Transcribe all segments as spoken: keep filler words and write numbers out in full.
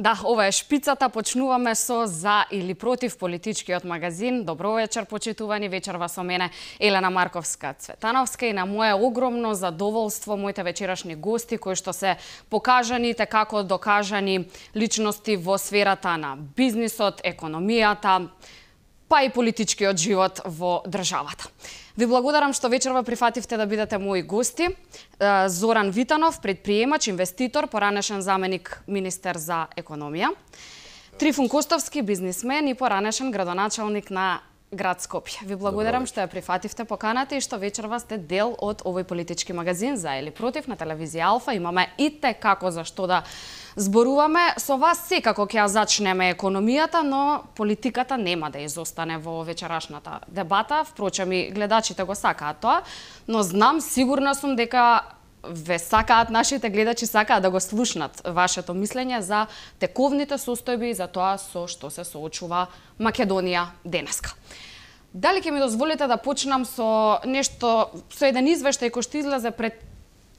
Да, ова е шпицата, почнуваме со за или против политичкиот магазин. Добро вечер, почитувани, вечерва со мене Елена Марковска-Цветановска и на моje огромно задоволство моите вечерашни гости кои што се покажани како докажани личности во сферата на бизнисот, економијата, па и политичкиот живот во државата. Ви благодарам што вечерва прифативте да бидете мои гости. Зоран Витанов, предприемач, инвеститор, поранешен заменик министер за економија. Трифун Костовски, бизнисмен и поранешен градоначалник на град Скопје. Ви благодарам што ја прифативте поканата и што вечерва сте дел од овој политички магазин за или против на телевизија Алфа. Имаме и те како за што да зборуваме. Со вас секако ќе ја зачнеме економијата, но политиката нема да изостане во вечерашната дебата. Впрочем и гледачите го сакаат тоа, но знам, сигурна сум дека ве сакаат, нашите гледачи сакаат да го слушнат вашето мислење за тековните состојби и за тоа со што се соочува Македонија денеска. Дали ќе ми дозволите да почнам со нешто, со еден извештај кој што излезе пред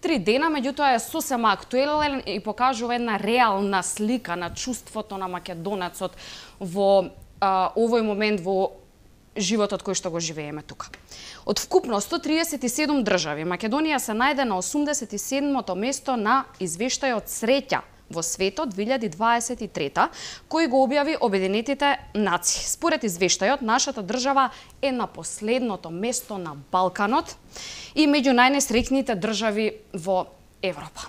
три дена, меѓутоа е сосема актуелен и покажува една реална слика на чувството на македонецот во а, овој момент во животот кој што го живееме тука. Од вкупно сто триесет и седум држави, Македонија се најде на осумдесет и седмото место на извештајот Среќа во светот две илјади дваесет и трета, кој го објави Обединетите нации. Според извештајот, нашата држава е на последното место на Балканот и меѓу најнесреќните држави во Европа.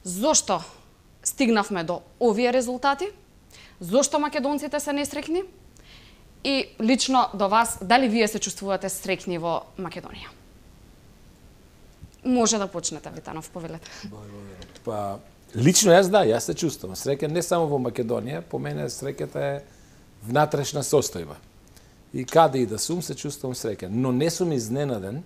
Зошто стигнавме до овие резултати? Зошто македонците се несреќни? И лично до вас, дали вие се чувствувате среќни во Македонија? Може да почнете, Витанов, повелете. Па, лично јас да, јас се чувствувам среќен не само во Македонија, по мене среќата е внатрешна состојба. И каде и да сум, се чувствувам среќен, но не сум изненаден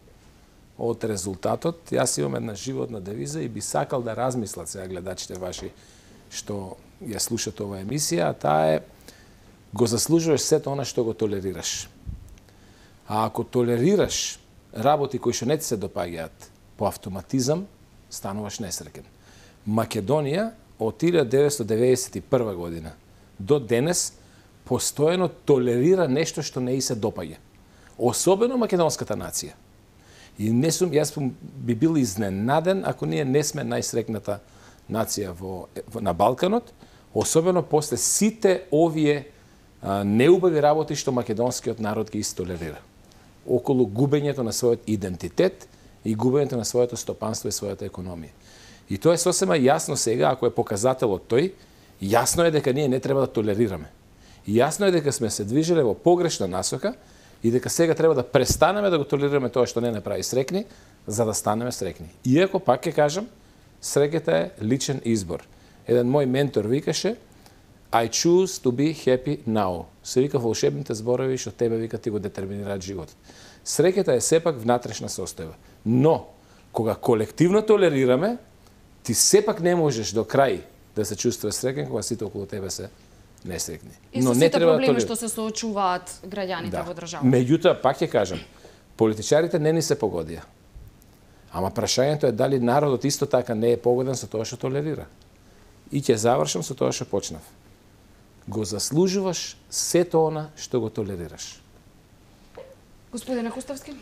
од резултатот. Јас имам една животна девиза и би сакал да размислат сега гледачите ваши што ја слушат оваа емисија, а таа е: го заслужуваш сето она што го толерираш. А ако толерираш работи кои што не ти се допаѓаат, по автоматизам стануваш несреќен. Македонија од илјада деветстотини деветдесет и прва година до денес постојано толерира нешто што не и се допаѓа. Особено македонската нација. И не сум, јас би бил изненаден ако ние не сме најсрекната нација во, на Балканот, особено после сите овие а, неубави работи што македонскиот народ ги истолерира. Околу губењето на својот идентитет и губењето на своето стопанство и својата економија. И тоа е сосема јасно сега, ако е показателот тој, јасно е дека ние не треба да толерираме. И јасно е дека сме се движеле во погрешна насока и дека сега треба да престанеме да го толерираме тоа што не не прави срекни, за да станеме срекни. Иако, пак ќе кажам, среќата е личен избор. Еден мој ментор викаше: I choose to be happy now. Се вика волшебните зборови што тебе вика ти го детерминираат животот. Среќата е сепак внатрешна состојба. Но, кога колективно толерираме, ти сепак не можеш до крај да се чувствуваш среќен кога сите околу тебе се несреќни. И со сите проблеми што се соочуваат граѓаните во државата. Меѓутоа, пак ќе кажам, политичарите не ни се погодија. Ама прашањето е дали народот исто така не е погоден со тоа што толерира. И ќе завршам со тоа што почнав. Го заслужуваш сето она што го толерираш. Господине Костовски,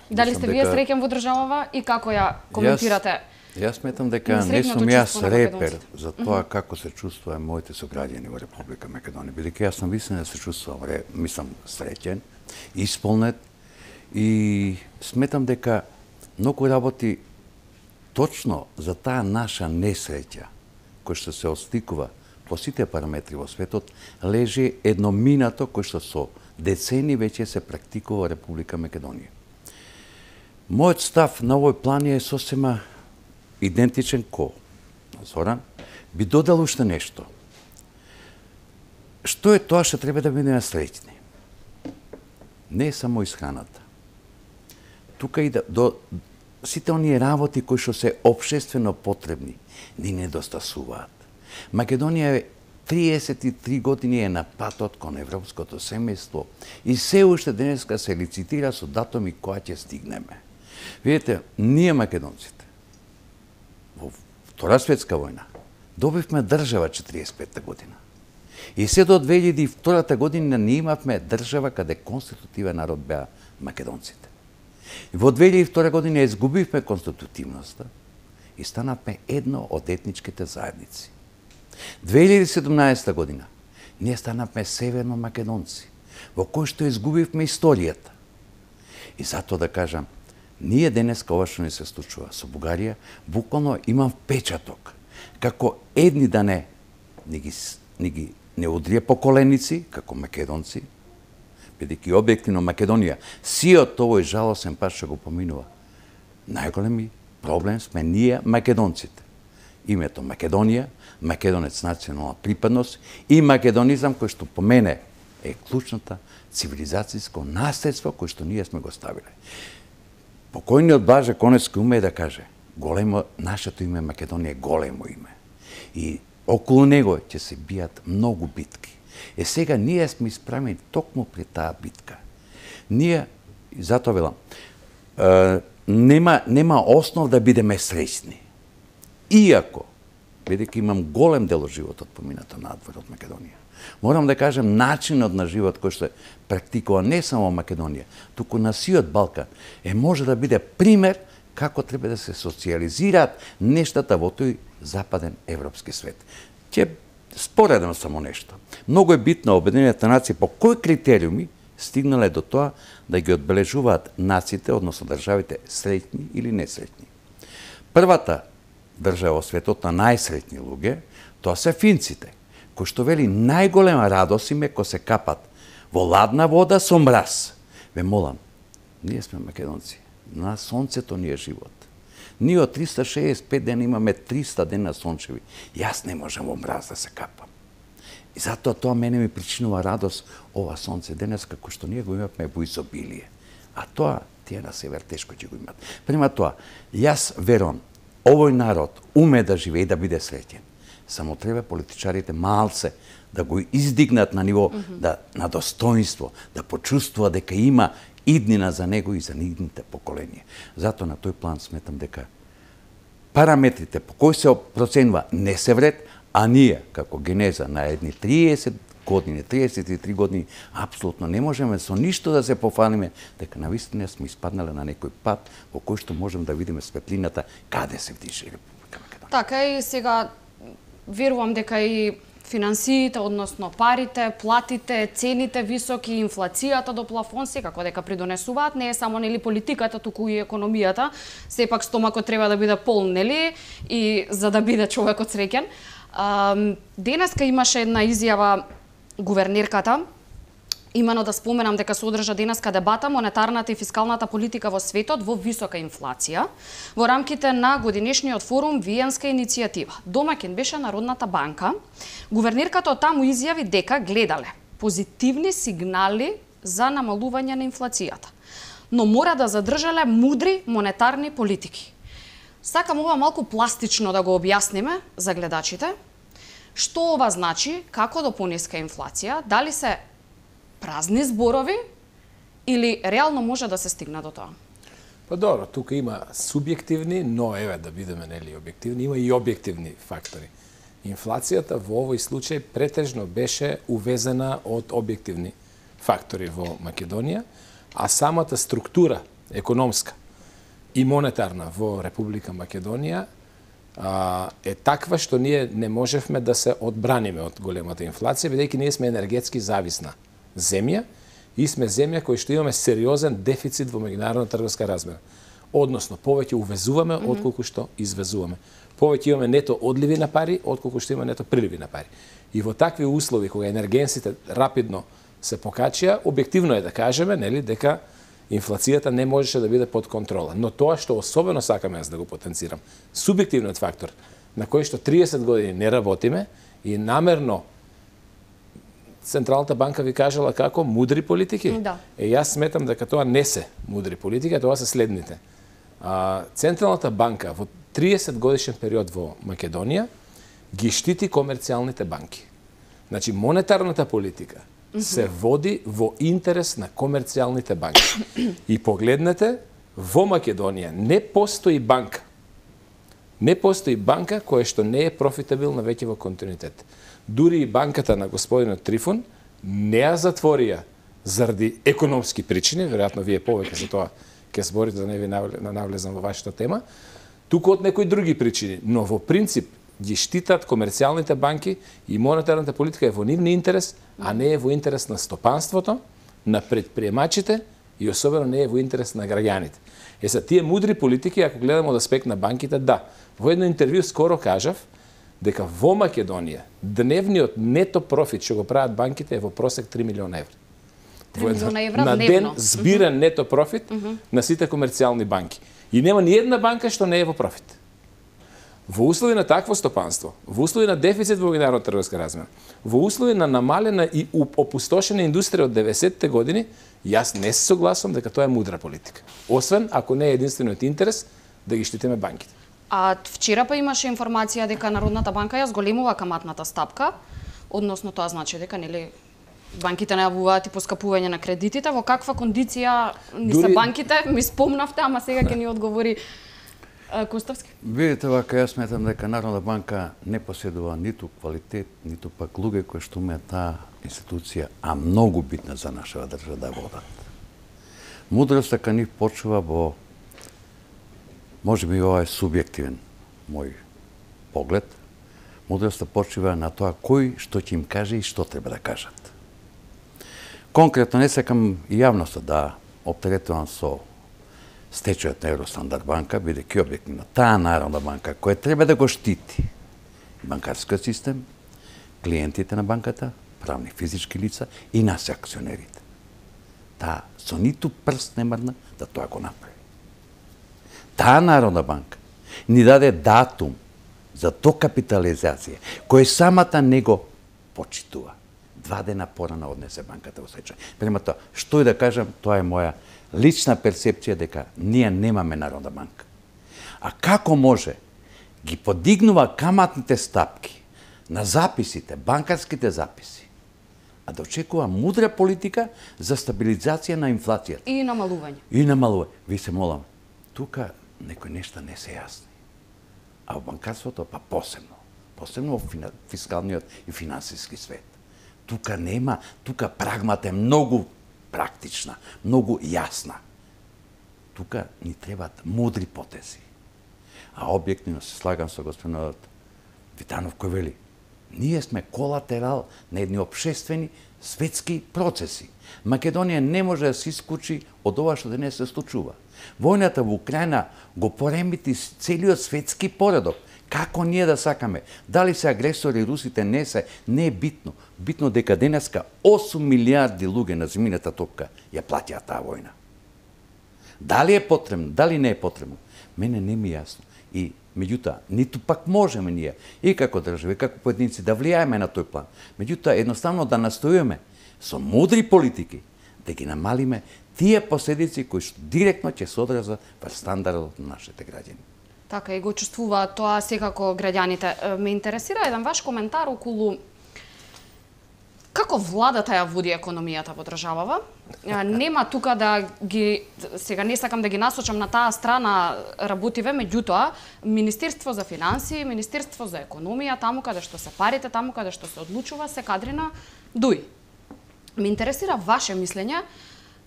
дали сте вие среќен во државава и како ја коментирате? Јас сметам дека не сум јас репер за тоа како се чувствуваме моите сограѓани во Република Македонија. Бидејќи јас сум вистина да се чувствувам, мислам, среќен, исполнет и сметам дека многу работи точно за таа наша несреќа кој што се отсликува по сите параметри во светот, лежи едно минато кој што со децени веќе се практикува во Република Македонија. Мојот став на овој план е сосема идентичен ко Зоран. Би додал уште нешто. Што е тоа што треба да бидеме среќни? Не е само исхраната. Тука и да, до сите оние работи кои што се општествено потребни, ни недостасуваат. Македонија е триесет и три години е на патот кон европското семејство и се уште денеска се лицитира со датуми која ќе стигнеме. Видите, ние македонците во Втора светска војна Добивме држава четириесет и петта година. И се до две илјади и втора година не имавме држава каде конститутивен народ беа македонците. И во две илјади и втора година изгубивме конститутивноста и станавме едно од етничките заедници. две илјади и седумнаесета година ние станавме северно македонци, во кој што изгубивме историјата. И затоа да кажам, ние денеска ова што ни се случува со Бугарија, буквално имам впечаток, како едни да не, не ги, не ги не удрија по коленици, како македонци, бидејќи објективно Македонија, сиот овој жалосен пат што го поминува. Најголеми проблем сме ние македонците. Името Македонија, македонец национална припадност и македонизам кој што по мене е клучната цивилизацијско наследство кој што ние сме го ставиле. Покојниот Блаже Коневски уме да каже, големо нашето име Македонија е големо име. И околу него ќе се бијат многу битки. Е сега ние сме исправени токму пред таа битка. Ние, затоа велам, е, нема, нема основ да бидеме среќни. Иако, бидејќи имам голем дел од животот поминато надвор од Македонија, морам да кажем начинот на живот кој што практикува не само Македонија, туку на сиот Балкан, е може да биде пример како треба да се социализираат нештата во тој западен европски свет. Ќе споредам само нешто. Многу е битно Обединените нации по кои критериуми стигнале до тоа да ги одбележуваат нациите, односно државите, среќни или несреќни. Првата држава во светот на најсреќни луѓе, тоа се финците, кои што вели најголема радост им е кога се капат во ладна вода со мраз. Ве молам, ние сме македонци, на сонцето ни е живот. Ние од триста шеесет и пет дена имаме триста дена сончеви. Јас не можам во мраз да се капам. И затоа тоа мене ми причинува радост ова сонце денес, како што ние го имавме во изобилие. А тоа тие на север тешко ќе го имат. Према тоа, јас верувам, овој народ уме да живее и да биде среќен. Само треба политичарите малце да го издигнат на ниво mm -hmm. да, на достоинство, да почувствува дека има иднина за него и за идните поколенија. Затоа на тој план сметам дека параметрите по кои се проценува не се вред, а ние, како генеза на едни триесет години, триесет и три години, апсолутно не можеме со ништо да се пофалиме, дека навистина сме испаднале на некој пат во кој што можеме да видиме светлината каде се вдиже Република Македонија. Така и сега верувам дека и финансиите, односно парите, платите, цените високи, инфлацијата до плафон секако дека придонесуваат, не е само нели политиката, туку и економијата. Сепак стомакот треба да биде полн, нели, и за да биде човекот среќен. Денеска имаше една изјава гувернерката, имено да споменам дека се одржа денеска дебата монетарната и фискалната политика во светот во висока инфлација во рамките на годинешниот форум Виенска иницијатива. Домаќин беше Народната банка. Гувернерката таму изјави дека гледале позитивни сигнали за намалување на инфлацијата, но мора да задржале мудри монетарни политики. Сакам ова малку пластично да го објасниме за гледачите. Што ова значи, како до пониска инфлација, дали се празни зборови или реално може да се стигне до тоа? Па добро, тука има субјективни, но еве да бидеме нели објективни, има и објективни фактори. Инфлацијата во овој случај претежно беше увезена од објективни фактори во Македонија, а самата структура економска и монетарна во Република Македонија а, е таква што ние не можевме да се одбраниме од големата инфлација, бидејќи ние сме енергетски зависна земја и сме земја која што имаме сериозен дефицит во меѓународна трговска размена. Односно, повеќе увезуваме mm -hmm. отколку што извезуваме. Повеќе имаме нето одливи на пари, отколку што има нето приливи на пари. И во такви услови, кога енергенсите рапидно се покачија, објективно е да кажеме, нели, дека инфлацијата не можеше да биде под контрола. Но тоа што особено сакам јас да го потенцирам, субјективниот фактор на кој што триесет години не работиме и намерно Централната банка ви кажала како мудри политики. Да. Е, јас сметам дека тоа не се мудри политики, тоа се следните. А, Централната банка во триесет годишен период во Македонија ги штити комерцијалните банки. Значи, монетарната политика mm -hmm. се води во интерес на комерцијалните банки. И погледнете, во Македонија не постои банка Не постои банка која што не е профитабилна веќе во континуитет. Дури и банката на господинот Трифон не ја затворија заради економски причини, веројатно вие повеќе за тоа ќе зборите, да не ви навлезам во вашата тема, туку од некои други причини, но во принцип ги штитат комерцијалните банки и монетарната политика е во нивни интерес, а не е во интерес на стопанството, на предприемачите и особено не е во интерес на граѓаните. Е са тие мудри политики, ако гледаме од аспект на банките, да. Во едно интервју скоро кажав дека во Македонија дневниот нето профит што го прават банките е во просек три милиона евра. три милиона евра на дневно. ден збиран нето профит uh -huh. на сите комерцијални банки. И нема ни една банка што не е во профит. Во услови на такво стопанство, во услови на дефицит во меѓународната трговска размена, во услови на намалена и опустошена индустрија од деветдесетте години, јас не се согласувам дека тоа е мудра политика. Освен ако не е единствениот интерес да ги штитиме банките. А вчера па имаше информација дека Народната банка ја зголемува каматната стапка, односно тоа значи дека нели банките најавуваат и поскапување на кредитите. Во каква кондиција ни се Дури... банките? Ми спомнавте, ама сега ќе ни одговори Коставски. Видите вака, јас сметам дека Народна банка не поседува ниту квалитет, ниту пак луѓе кои што умеат таа институција, а многу битна за нашава држава да водат. Мудроста кај нив почува во, може би ова е субјективен мој поглед, мудроста почива на тоа кој што ќе им каже и што треба да кажат. Конкретно не сакам и јавноста да оптеретувам со стечајот на Евростандард банка, бидејќи објективно таа Народна банка која треба да го штити банкарскиот систем, клиентите на банката, правни физички лица и нас акционерите. Таа со ниту прст не мрдна да тоа го направи. Таа Народна банка ни даде датум за докапитализација, кој самата не го почитува. Два дена порано однесе банката во стечај. Према тоа, што и да кажам, тоа е моја лична перцепција дека ние немаме Народна банка. А како може ги подигнува каматните стапки на записите, банкарските записи, а да очекува мудра политика за стабилизација на инфлацијата. И намалување. И намалување. Ви се молам, тука некои нешта не се јасни. А во банкарството па посебно. Посебно во фискалниот и финансиски свет. Тука нема, тука прагмата е многу практична, многу јасна. Тука ни требаат мудри потези. А објективно се слагам со господинот Витанов кој вели, ние сме колатерал на едни обшествени светски процеси. Македонија не може да се исклучи од ова што денес се случува. Војната во Украина го поремити целиот светски поредок. Како ние да сакаме? Дали се агресори русите не се, не е битно. Битно дека денеска осум милиарди луѓе на земјината топка ја платија таа војна. Дали е потребно, дали не е потребно? Мене не ми е јасно. И меѓутоа, ниту пак можеме ние, и како држави, и како поединци, да влијаеме на тој план. Меѓутоа, едноставно да настојуваме со мудри политики да ги намалиме тие последици кои што директно ќе се одразат во стандардот на нашите граѓани. Така, и го чувствуваат тоа секако граѓаните. Ме интересира еден ваш коментар околу како владата ја води економијата во државава. Нема тука да ги, сега не сакам да ги насочам на таа страна работиве, меѓутоа, Министерство за финансии, Министерство за економија, таму каде што се парите, таму каде што се одлучува, се кадри на ДУИ. Ме интересира ваше мислење,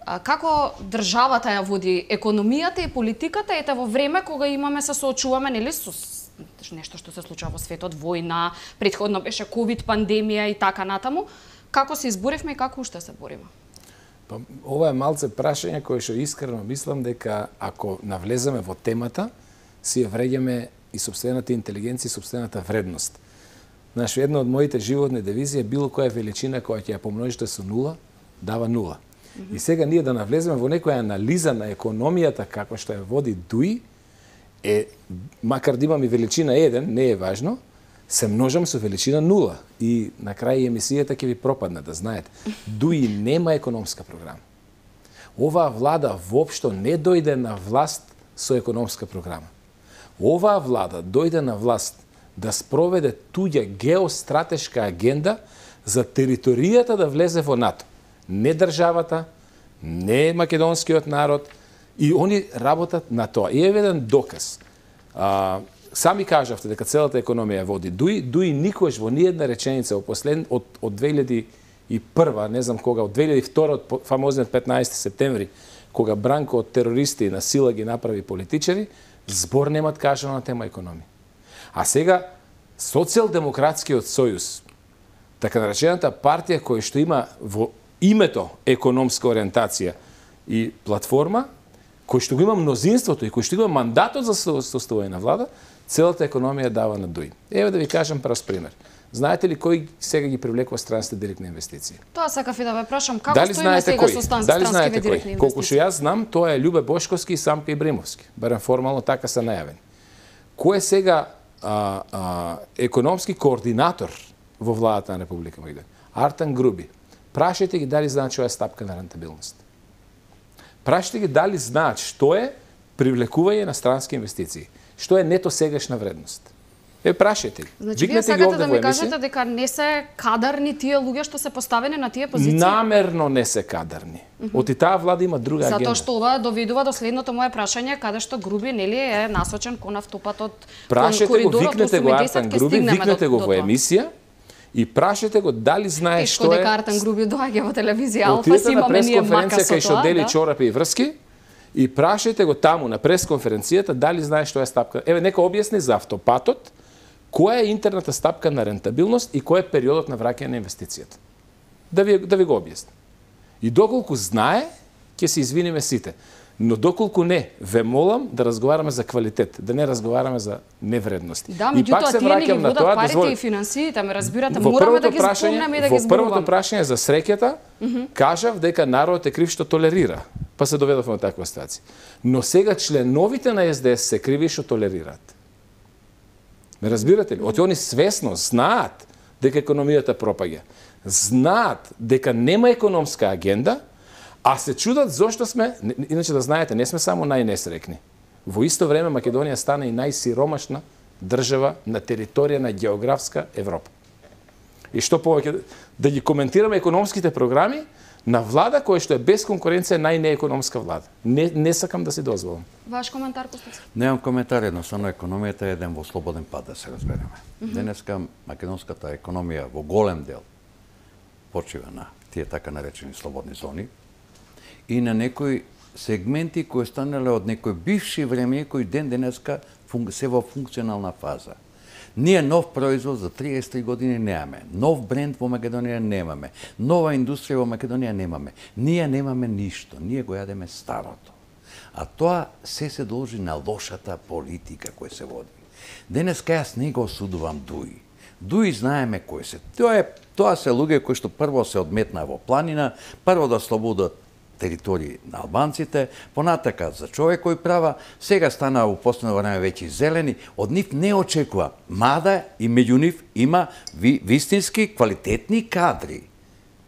како државата ја води економијата и политиката, ете во време кога имаме се соочуваме нели со нешто што се случува во светот, војна, претходно беше ковид пандемија и така натаму. Како се изборивме и како уште се бориме? Па, ова е малце прашање кое што искрено мислам дека ако навлеземе во темата, си ја вреѓаме и сопствената интелигенција и сопствената вредност. Знаеш, една од моите животни девизи е било која величина која ќе ја помножите со нула, дава нула. И сега ние да навлеземе во некоја анализа на економијата како што ја води ДУИ, е, макар да имам и величина еден, не е важно, се множам со величина нула. И на крај емисијата ќе ви пропадне, да знаете. ДУИ нема економска програма. Оваа влада воопшто не дојде на власт со економска програма. Оваа влада дојде на власт да спроведе туѓа геостратешка агенда за територијата да влезе во НАТО. Не државата, не македонскиот народ, и они работат на тоа. И е еден доказ. А, сами кажавте дека целата економија води Дуи, Дуи никош во ниедна реченица од послед од од две илјади и прва, не знам кога, од две илјади и втора, од фамозниот петнаесети септември, кога Бранко од терористи и на сила ги направи политичари, збор немат кажано на тема економија. А сега Социјалдемократскиот сојуз, така наречената партија која што има во името економска ориентација и платформа, кој што го има мнозинството и кој што има мандатот за составување на влада, целата економија дава на Дуи. Еве да ви кажам прост пример. Знаете ли кој сега ги привлекува странските директни инвестиции? Тоа сакав и да ве прашам, како Дали стоиме знаете сега кој? со стан- Дали странските знаете директни кој? Колку што инвестиции? јас знам, тоа е Љубе Бошковски и Самка Ибримовски. Барем формално така се најавени. Кој е сега а, а, економски координатор во владата на Република Македонија? Артан Груби. Прашајте ги дали знаат што е стапка на рентабилност. Прашајте ги дали знаат што е привлекување на странски инвестиции. Што е нето сегашна вредност. Е, прашајте ги. Значи, вие Викнете ги сакате овде да во ми емисија. кажете дека не се кадарни тие луѓе што се поставени на тие позиции? Намерно не се кадарни. Mm -hmm. Оти таа влада има друга агенда. Затоа што ова доведува до следното мое прашање, каде што Груби нели е насочен кон автопатот, кон Прашете го, коридорот викнете го осум и десет, Артан ќе Груби, стигнеме викнете до- го до во тоа. емисија и прашете го дали знае Тешко што е... дека Артан Груби доаѓа во телевизија Алфа, Отидете си на имаме ние мака пресконференција со кај што тоа, дели да. чорапи и врски и прашајте го таму на пресконференцијата дали знае што е стапка. Еве нека објасни за автопатот, која е интерната стапка на рентабилност и кој е периодот на враќање на инвестицијата. Да ви да ви го објасни. И доколку знае, ќе се извиниме сите. Но доколку не, ве молам да разговараме за квалитет, да не разговараме за невредности. Да, И пак меѓутоа се тие не ги враќам на водат тоа, парите дозволи- и финансиите, ме разбирате, Во мораме да првото ги прашање- спомнеме и да во ги зборуваме. првото прашање за среќата, кажав дека народот е крив што толерира, па се доведовме во таква ситуација. Но сега членовите на Ес Де Ес се криви што толерираат. Ме разбирате ли? Оти они свесно знаат дека економијата пропаѓа. Знаат дека нема економска агенда, а се чудат зошто сме, не- иначе да знаете, не сме само најнесрекни. Во исто време Македонија стана и најсиромашна држава на територија на географска Европа. И што повеќе да ги коментираме економските програми на влада која што е без конкуренција најнеекономска влада. Не не сакам да си дозволам. Ваш коментар, Костас? Немам коментар, едноставно економијата е еден во слободен пат, да се разбереме. Mm -hmm. Денеска македонската економија во голем дел почива на тие така наречени слободни зони и на некои сегменти кои станале од некои бивши време кои ден денеска се во функционална фаза. Ние нов производ за триесет и три години немаме. Нов бренд во Македонија немаме. Нова индустрија во Македонија немаме. Ние немаме ништо. Ние го јадеме старото. А тоа се се должи на лошата политика која се води. Денеска јас не го осудувам Дуи. Дуи знаеме кои се. Тоа е тоа се луѓе кои што прво се одметна во планина, прво да слободат територии на албанците, понатака за човекови права, сега стана во последно време веќе зелени, од нив не очекува, мада и меѓу нив има ви, вистински квалитетни кадри.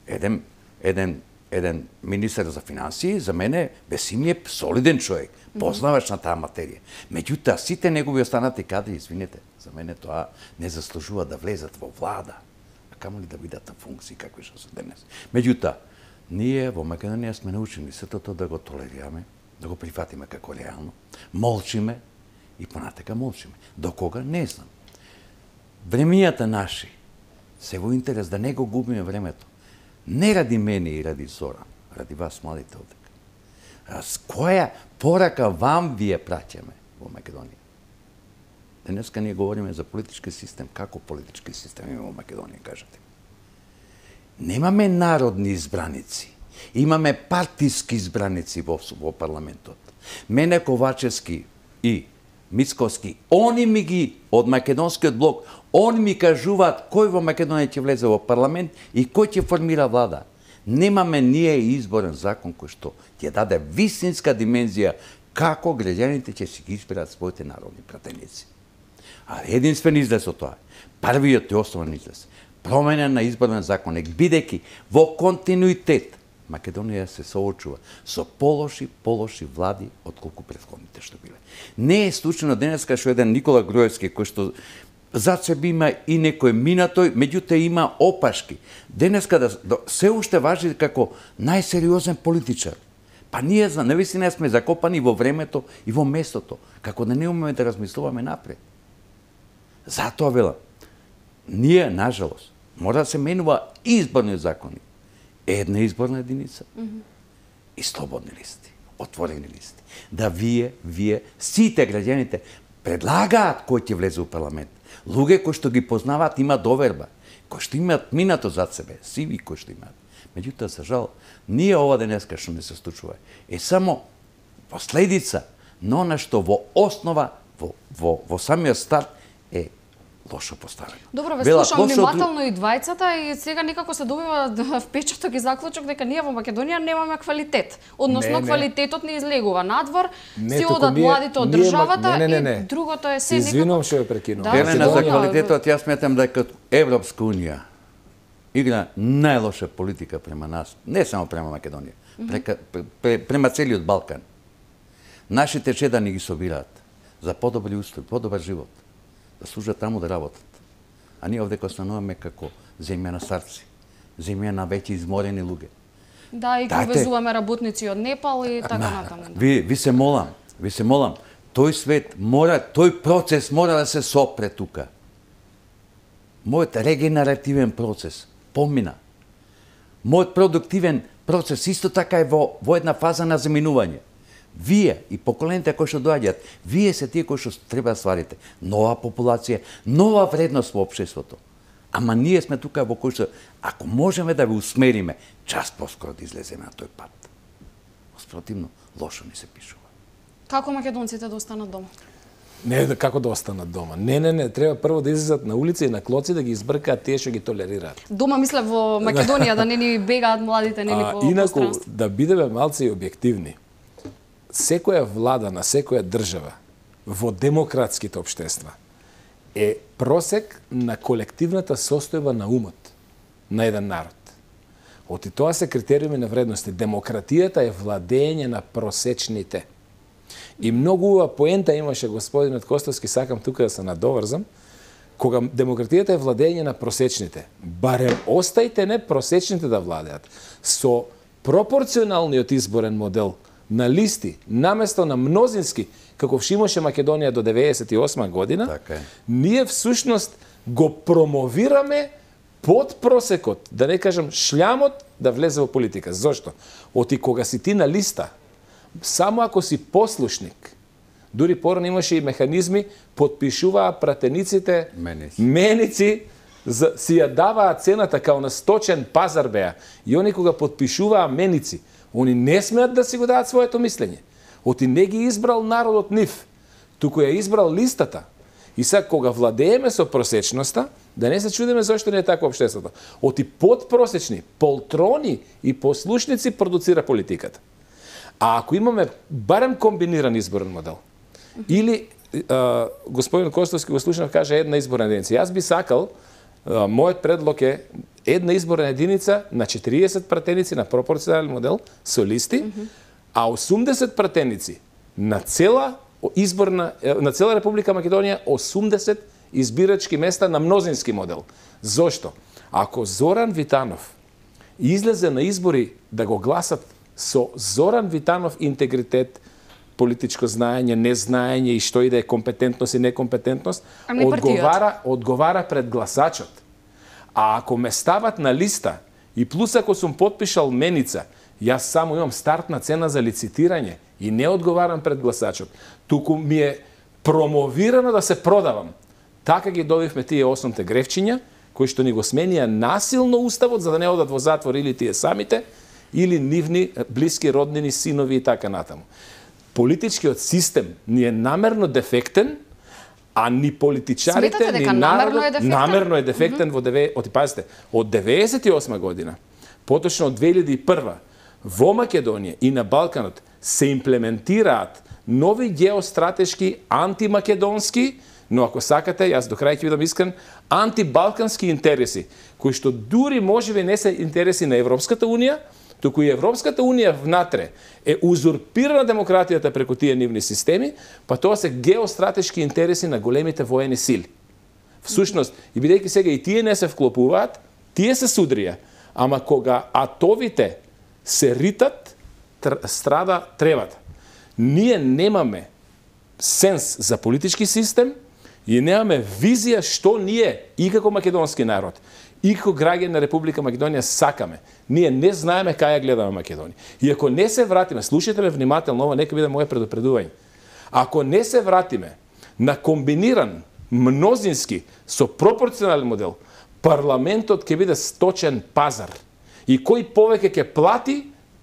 Еден, еден, еден министер за финансии, за мене, Бесим е солиден човек, познавач на таа материја. Меѓутоа, сите негови останати кадри, извинете, за мене тоа не заслужува да влезат во влада, а камо ли да бидат на функции какви што се денес. Меѓутоа, ние во Македонија сме научени сето тоа да го толерираме, да го прифатиме како реално, молчиме и понатака молчиме. До кога? Не знам. Времињата наши се во интерес да не го губиме времето. Не ради мене и ради Зора, ради вас младите овдека. А с која порака вам вие праќаме во Македонија? Денеска ние говориме за политички систем. Како политички систем има во Македонија, кажете? Немаме народни избраници. Имаме партиски избраници во, во парламентот. Мене Ковачевски и Мицковски, они ми ги, од македонскиот блок, они ми кажуваат кој во Македонија ќе влезе во парламент и кој ќе формира влада. Немаме ние изборен закон кој што ќе даде вистинска димензија како граѓаните ќе си ги изберат своите народни пратеници. А единствен излез од тоа, првиот и основен излез, промена на изборен законник, бидејќи во континуитет Македонија се соочува со полоши, полоши влади отколку претходните што биле. Не е случајно денеска што еден Никола Груевски, кој што зад себе има и некој минатој, меѓутоа има опашки. Денеска да, да се уште важи како најсериозен политичар. Па ние навистина сме закопани во времето и во местото, како да не умеме да размислуваме напред. Затоа велам, ние, нажалост, мора да се менува изборни закони. Една изборна единица mm -hmm. и слободни листи, отворени листи. Да вие, вие, сите граѓаните предлагаат кој ќе влезе у парламент. Луѓе кои што ги познаваат има доверба, кои што имаат минато зад себе, сиви кои што имаат. Меѓутоа, за жал, ние ова денеска што не се случува е само последица на она што во основа, во, во, во самиот старт е лошо поставено. Добро, ве слушам внимателно и двајцата и сега некако се добива впечаток и заклучок дека ние во Македонија немаме квалитет. Односно, не, не. квалитетот не излегува надвор, не, си одат младите од државата не, не, не, не. и другото е се Извинувам што ја прекинувам. Да, Елена, за квалитетот јас сметам дека Европска унија игра најлоша политика према нас, не само према Македонија, прека, према целиот Балкан. Нашите чедани ги собираат за подобри услови, подобар живот, да служат таму да работат. А ние овде остануваме како земја на старци, земја на веќе изморени луѓе. Да, и го везуваме работници од Непал и така натаму. Ви, ви се молам, ви се молам, тој свет мора, тој процес мора да се сопре тука. Мојот регенеративен процес помина. Мојот продуктивен процес исто така е во, во една фаза на заминување. Вие и поколените кои што доаѓаат, вие се тие кои што треба да стварите нова популација, нова вредност во општеството. Ама ние сме тука во кој што, ако можеме да ви усмериме, час поскоро да излеземе на тој пат. Спротивно, лошо ни се пишува. Како македонците да останат дома? Не, како да останат дома. Не, не, не, треба прво да излезат на улица и на клоци да ги избркаат тие што ги толерираат. Дома мисле во Македонија да не ни бегаат младите, не ни по инаку, пространство. Да бидеме малце и објективни. Секоја влада на секоја држава во демократските општества е просек на колективната состојба на умот на еден народ. Оти тоа се критериуми на вредности. Демократијата е владење на просечните. И многу убава поента имаше господинот Костовски, сакам тука да се надоврзам, кога демократијата е владење на просечните. Барем остајте не просечните да владеат. Со пропорционалниот изборен модел на листи, наместо на мнозински, како имаше Македонија до деветдесет и осма година, така, ние всушност го промовираме под просекот, да не кажам шлямот, да влезе во политика. Зошто? Оти кога си ти на листа, само ако си послушник, дури порано имаше и механизми, подпишуваа пратениците, меници, меници за, си ја даваа цената као на сточен пазар беа. И они кога подпишуваа меници, они не смеат да си го дадат своето мислење. Оти не ги избрал народот нив, туку ја избрал листата. И сега кога владееме со просечноста, да не се чудиме зашто не е така општеството. Оти подпросечни, полтрони и послушници продуцира политиката. А ако имаме барем комбиниран изборен модел, или а, господин Костовски го слушнав каже една изборна единица. Јас би сакал, а, мојот предлог е една изборна единица на четириесет пратеници на пропорционален модел со листи, mm -hmm. а осумдесет пратеници на цела изборна на цела Република Македонија, осумдесет избирачки места на мнозински модел. Зошто? Ако Зоран Витанов излезе на избори да го гласат со Зоран Витанов интегритет, политичко знаење, незнаење и што и да е компетентност и некомпетентност, одговара, одговара пред гласачот. А ако ме стават на листа и плюс ако сум подпишал меница, јас само имам стартна цена за лицитирање и не одговарам пред гласачот. Туку ми е промовирано да се продавам. Така ги добивме тие осумте гревчиња, кои што ни го сменија насилно уставот за да не одат во затвор или тие самите, или нивни блиски роднини, синови и така натаму. Политичкиот систем ни е намерно дефектен, а ни политичарите, Сметате дека ни народот намерно е дефектен? намерно е дефектен mm -hmm. во деве, оти пазите, од деветдесет и осма година, поточно од две илјади и прва, во Македонија и на Балканот се имплементираат нови геостратешки антимакедонски, но ако сакате, јас до крај ќе бидам искрен, антибалкански интереси, кои што дури можеби не се интереси на Европската унија, туку и Европската унија внатре е узурпирана демократијата преку тие нивни системи, па тоа се геостратешки интереси на големите воени сили. Всушност, и бидејќи сега и тие не се вклопуваат, тие се судрија, ама кога атовите се ритат, страда тревата. Ние немаме сенс за политички систем, и немаме визија што ние и како македонски народ и како граѓани на Република Македонија сакаме. Ние не знаеме кај ја гледаме Македонија. И ако не се вратиме, слушайте ме внимателно, ова нека биде моје предупредување. Ако не се вратиме на комбиниран мнозински со пропорционален модел, парламентот ќе биде сточен пазар. И кој повеќе ќе плати,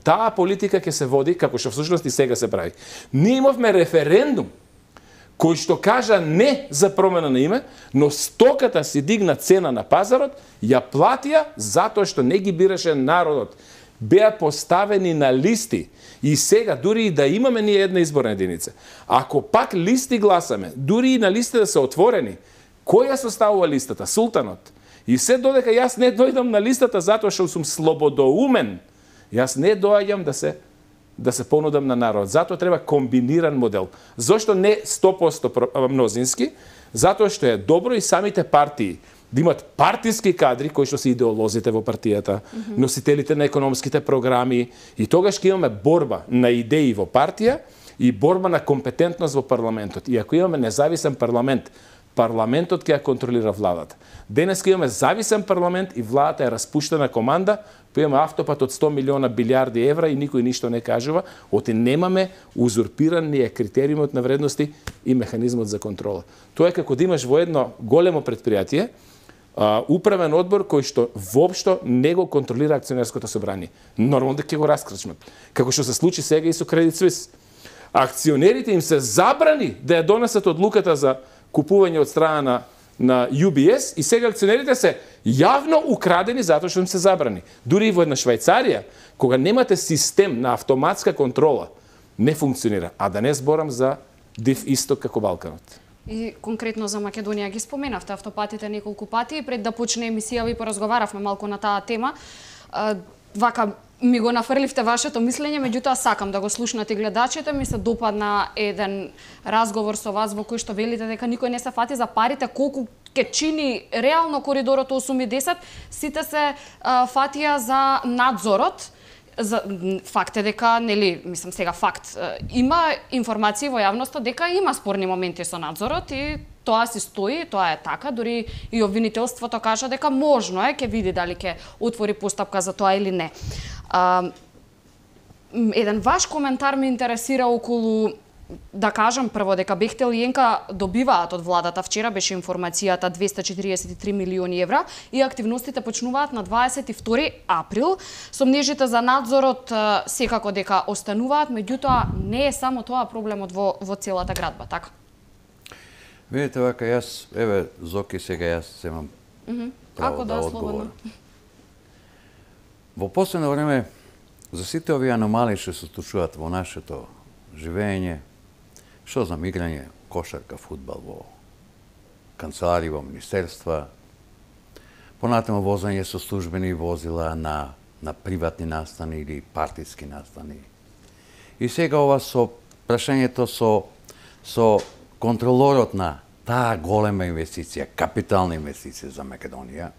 таа политика ќе се води, како што всушност и сега се прави. Ние имавме референдум кој што кажа не за промена на име, но стоката си дигна цена на пазарот, ја платија затоа што не ги бираше народот. Беа поставени на листи и сега, дури и да имаме ние една изборна единица, ако пак листи гласаме, дури и на листи да се отворени, кој ја составува листата? Султанот. И се додека јас не дојдам на листата затоа што сум слободоумен, јас не доаѓам да се да се понудам на народ. Затоа треба комбиниран модел. Зошто не сто проценти мнозински? Затоа што е добро и самите партии да имат партиски кадри кои што се идеолозите во партијата, mm-hmm. носителите на економските програми, и тогаш ќе имаме борба на идеи во партија и борба на компетентност во парламентот. И ако имаме независен парламент, парламентот ќе ја контролира владата. Денес ќе имаме зависен парламент и владата е распуштена команда, па имаме автопат од сто милиона билиарди евра и никој ништо не кажува, оти немаме узурпиран ни е критериумот на вредности и механизмот за контрола. Тоа е како да имаш во едно големо предпријатие а, управен одбор кој што воопшто не го контролира акционерското собрание. Нормално да ќе го раскрачмат. Како што се случи сега и со Credit Suisse. Акционерите им се забрани да ја донесат одлуката за купување од страна на на Ю Би Ес и сега акционерите се јавно украдени затоа што им се забрани. Дури и во една Швајцарија, кога немате систем на автоматска контрола, не функционира. А да не зборам за Див Исток како Балканот. И конкретно за Македонија ги споменавте автопатите неколку пати, и пред да почне емисија ви поразговаравме малку на таа тема. Вака ми го нафрливте вашето мислење, меѓутоа сакам да го слушнат и гледачите. Ми се допадна еден разговор со вас во кој што велите дека никој не се фати за парите, колку ќе чини реално коридорот осум и десет, сите се а, фатија за надзорот. За, факт е дека, нели, мислам сега факт, има информации во јавноста дека има спорни моменти со надзорот и тоа си стои, тоа е така, дури и обвинителството кажа дека можно е, ќе види дали ќе отвори постапка за тоа или не. А, еден ваш коментар ме интересира околу, да кажам прво дека Бехтел и Енка добиваат од владата, вчера беше информацијата двесте четириесет и три милиони евра и активностите почнуваат на дваесет и втори април. Сомнежите за надзорот секако дека остануваат, меѓутоа не е само тоа проблемот во, во целата градба, така? Видите, вака, јас, еве, Зоки, сега јас земам mm -hmm. право Ако да, да одговорам. Во последно време, за сите овие аномалии што се случуваат во нашето живење, што знам, играње, кошарка, фудбал во канцелари, во министерства, понатаму возење со службени возила на, на приватни настани или партиски настани. И сега ова со прашањето со, со контролорот на таа голема инвестиција, капитална инвестиција за Македонија,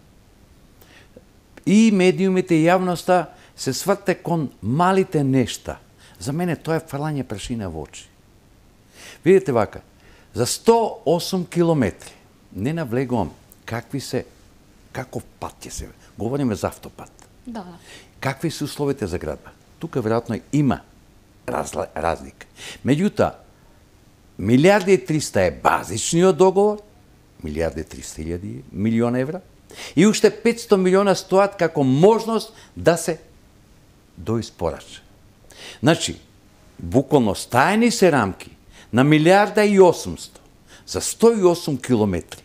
и медиумите и јавноста се сврте кон малите нешта. За мене тоа е фрлање прашина во очи. Видите вака, за сто и осум километри, не навлегувам какви се, каков пат ќе се, говориме за автопат. Да. Какви се условите за градба? Тука веројатно има разла, разлика. Меѓутоа, милиарди и триста е базичниот договор, милиарди и триста илјади милиона евра, и уште петсто милиона стоат како можност да се доиспорача. Значи, буквално стаени се рамки на милиарда и осумсто за сто и осум километри.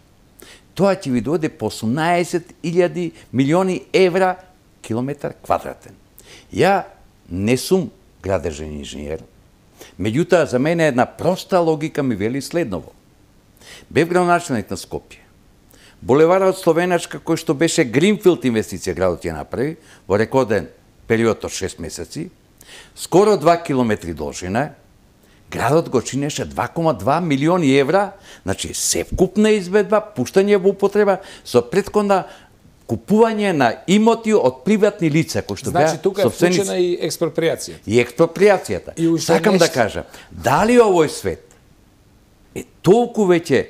Тоа ќе ви дојде по осумнаесет илјади милиони евра километар квадратен. Ја не сум градежен инженер, меѓутоа за мене една проста логика ми вели следново. Бев градоначелник на Скопје. Булеварот Словеначка, кој што беше Гринфилд инвестиција, градот ја направи во рекорден период од шест месеци, скоро два километри должина, градот го чинеше два кома два милиони евра, значи севкупна изведба, пуштање во употреба со претходна купување на имоти од приватни лица, кои што значи, беа тука е вклучена и експроприација. И експроприацијата. И Сакам нешто... да кажам, дали овој свет е толку веќе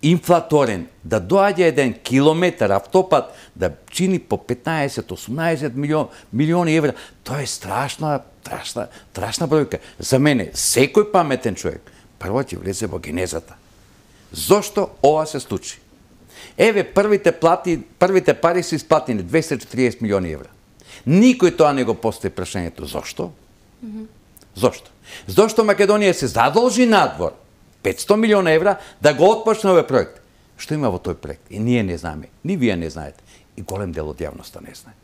инфлаторен, да доаѓа еден километар автопат да чини по петнаесет до осумнаесет милион, милиони евра, тоа е страшна, страшна, страшна бројка. За мене, секој паметен човек, прво ќе влезе во генезата. Зошто ова се случи? Еве, првите плати, првите пари се исплатени двесте и четириесет милиони евра. Никој тоа не го постави прашањето зошто? Mm -hmm. Зошто? Зошто Македонија се задолжи надвор петстотини милиона евра да го отпочне овој проект? Што има во тој проект? И ние не знаеме, ни вие не знаете, и голем дел од јавноста не знае.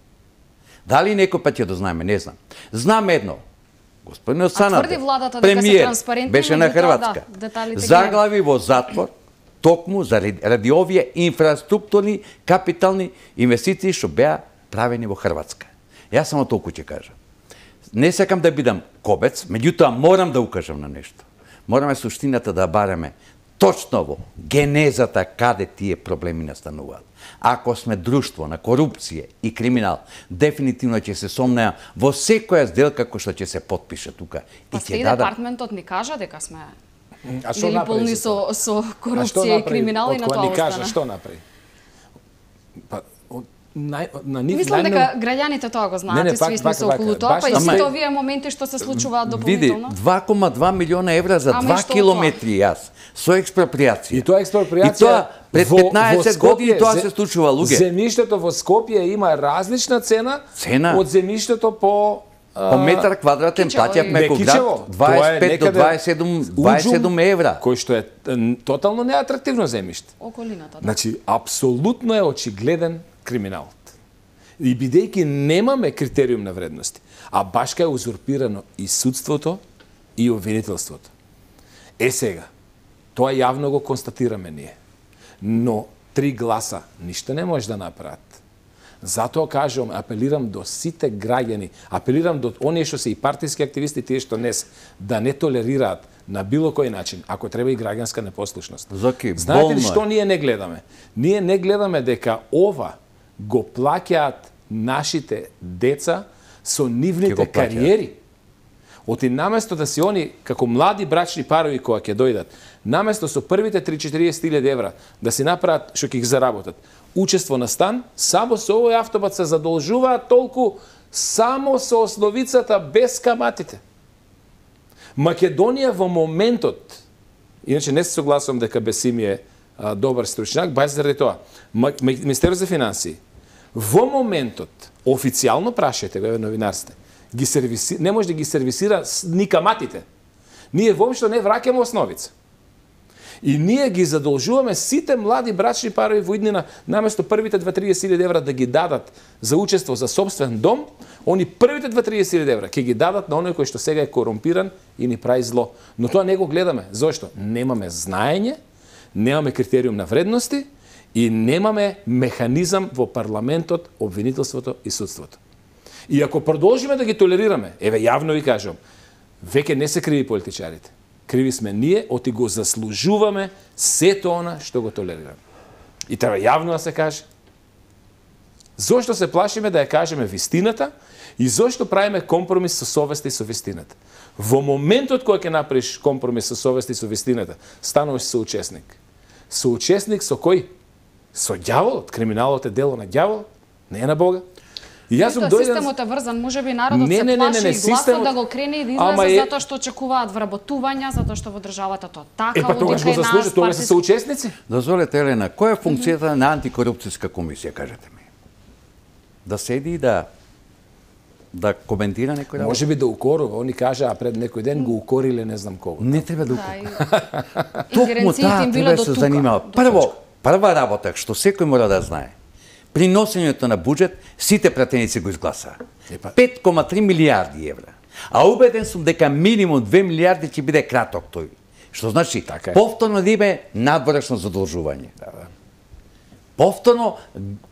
Дали некој пат ќе да знаеме, не знам. Знам едно. Господин Санаде, премиер, беше на Хрватска, заглави во затвор токму заради овие инфраструктурни капитални инвестиции што беа правени во Хрватска. Јас само толку ќе кажам. Не сакам да бидам кобец, меѓутоа морам да укажам на нешто. Мораме суштината да бараме точно во генезата каде тие проблеми настануваат. Ако сме друштво на корупција и криминал, дефинитивно ќе се сомнеа во секоја сделка која што ќе се потпише тука. Па и ќе дадам... департментот ни кажа дека сме били полни со, со корупција и криминал и на тоа остана. Кажа, што направи? Па, На, на нив, Мислам најно... дека граѓаните тоа го знаат, не, не, и сви сме се околу тоа, па и сите овие моменти што се случуваат дополнително. Види, два кома два милиона евра за два километри јас, со експроприација. И тоа експроприација... И тоа пред петнаесет години тоа се случува, луѓе. Земјиштето во Скопје има различна цена, цена? од земјиштето по... По метар квадратен плаќавме во град дваесет пет до дваесет и седум евра. Кој што е тотално неатрактивно земјиште. Околината, да. Значи, апсолутно е очигледен криминалот. И бидејќи немаме критериум на вредности, а башка е узурпирано и судството и обвинителството. Е сега, тоа јавно го констатираме ние. Но три гласа ништо не може да направат. Затоа кажувам, апелирам до сите граѓани, апелирам до оние што се и партиски активисти, тие што не се, да не толерираат на било кој начин, ако треба и граѓанска непослушност. Зоки, знаете ли што ние не гледаме? Ние не гледаме дека ова го плаќаат нашите деца со нивните кариери. Оти наместо да си они, како млади брачни парови кои ќе дојдат, наместо со првите триесет илјади евра да си направат што ќе ги заработат, учество на стан, само со овој автобат се задолжуваат толку само со основицата без каматите. Македонија во моментот, иначе не се согласувам дека Бесими е а, добар стручњак, бај заради тоа, Министерството за финансии, во моментот, официјално прашајте го, еве новинарсте, ги сервиси... не може да ги сервисира ни каматите. Ние воопшто не враќаме основица. И ние ги задолжуваме сите млади брачни парови во иднина, наместо првите дваесет илјади евра да ги дадат за учество за собствен дом, они првите дваесет илјади евра ќе ги дадат на оној кој што сега е корумпиран и ни прави зло. Но тоа не го гледаме. Зошто? Немаме знаење, немаме критериум на вредности и немаме механизам во парламентот, обвинителството и судството. И ако продолжиме да ги толерираме, еве јавно ви кажам, веќе не се криви политичарите. Криви сме ние, оти го заслужуваме сето она што го толерираме. И треба јавно да се каже. Зошто се плашиме да ја кажеме вистината и зошто правиме компромис со совеста и со вистината? Во моментот кој ќе направиш компромис со совеста и со вистината, стануваш соучесник. Соучесник со кој? Со ѓаволот. Криминалот е дело на ѓавол, не е на Бога. И јас сум дојден... Системот е врзан, можеби народот не, се не, плаши не, не, не, и гласот системот... да го крене и да излезе е... затоа што очекуваат вработувања, затоа што во државата тоа така, е, па тогаш го заслужи, тоа се соучесници. Дозволете, Елена, која е функцијата на антикорупцијска комисија, кажете ми? Да седи и да да коментира некој работа? Може би да укорува, они кажа, а пред некој ден го укориле не знам кого. Не треба да укорува. Токму таа треба да се занимава. Прво, прва работа што секој мора да знае. При носењето на буџет, сите пратеници го изгласаа. пет кома три милијарди евра. А убеден сум дека минимум две милијарди ќе биде краток тој. Што значи, така повторно да име надворешно задолжување. Да, да. Повторно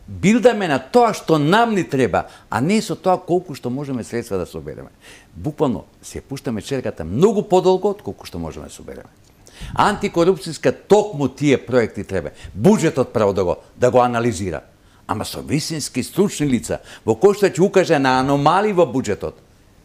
билдаме на тоа што нам ни треба, а не со тоа колку што можеме средства да собереме. Буквално, се пуштаме черката многу подолго од колку што можеме да собереме. Антикорупцијска токму тие проекти треба. Буџетот право да го, да го анализира. Ама со вистински стручни лица, во кој што ќе укаже на аномалии во буџетот,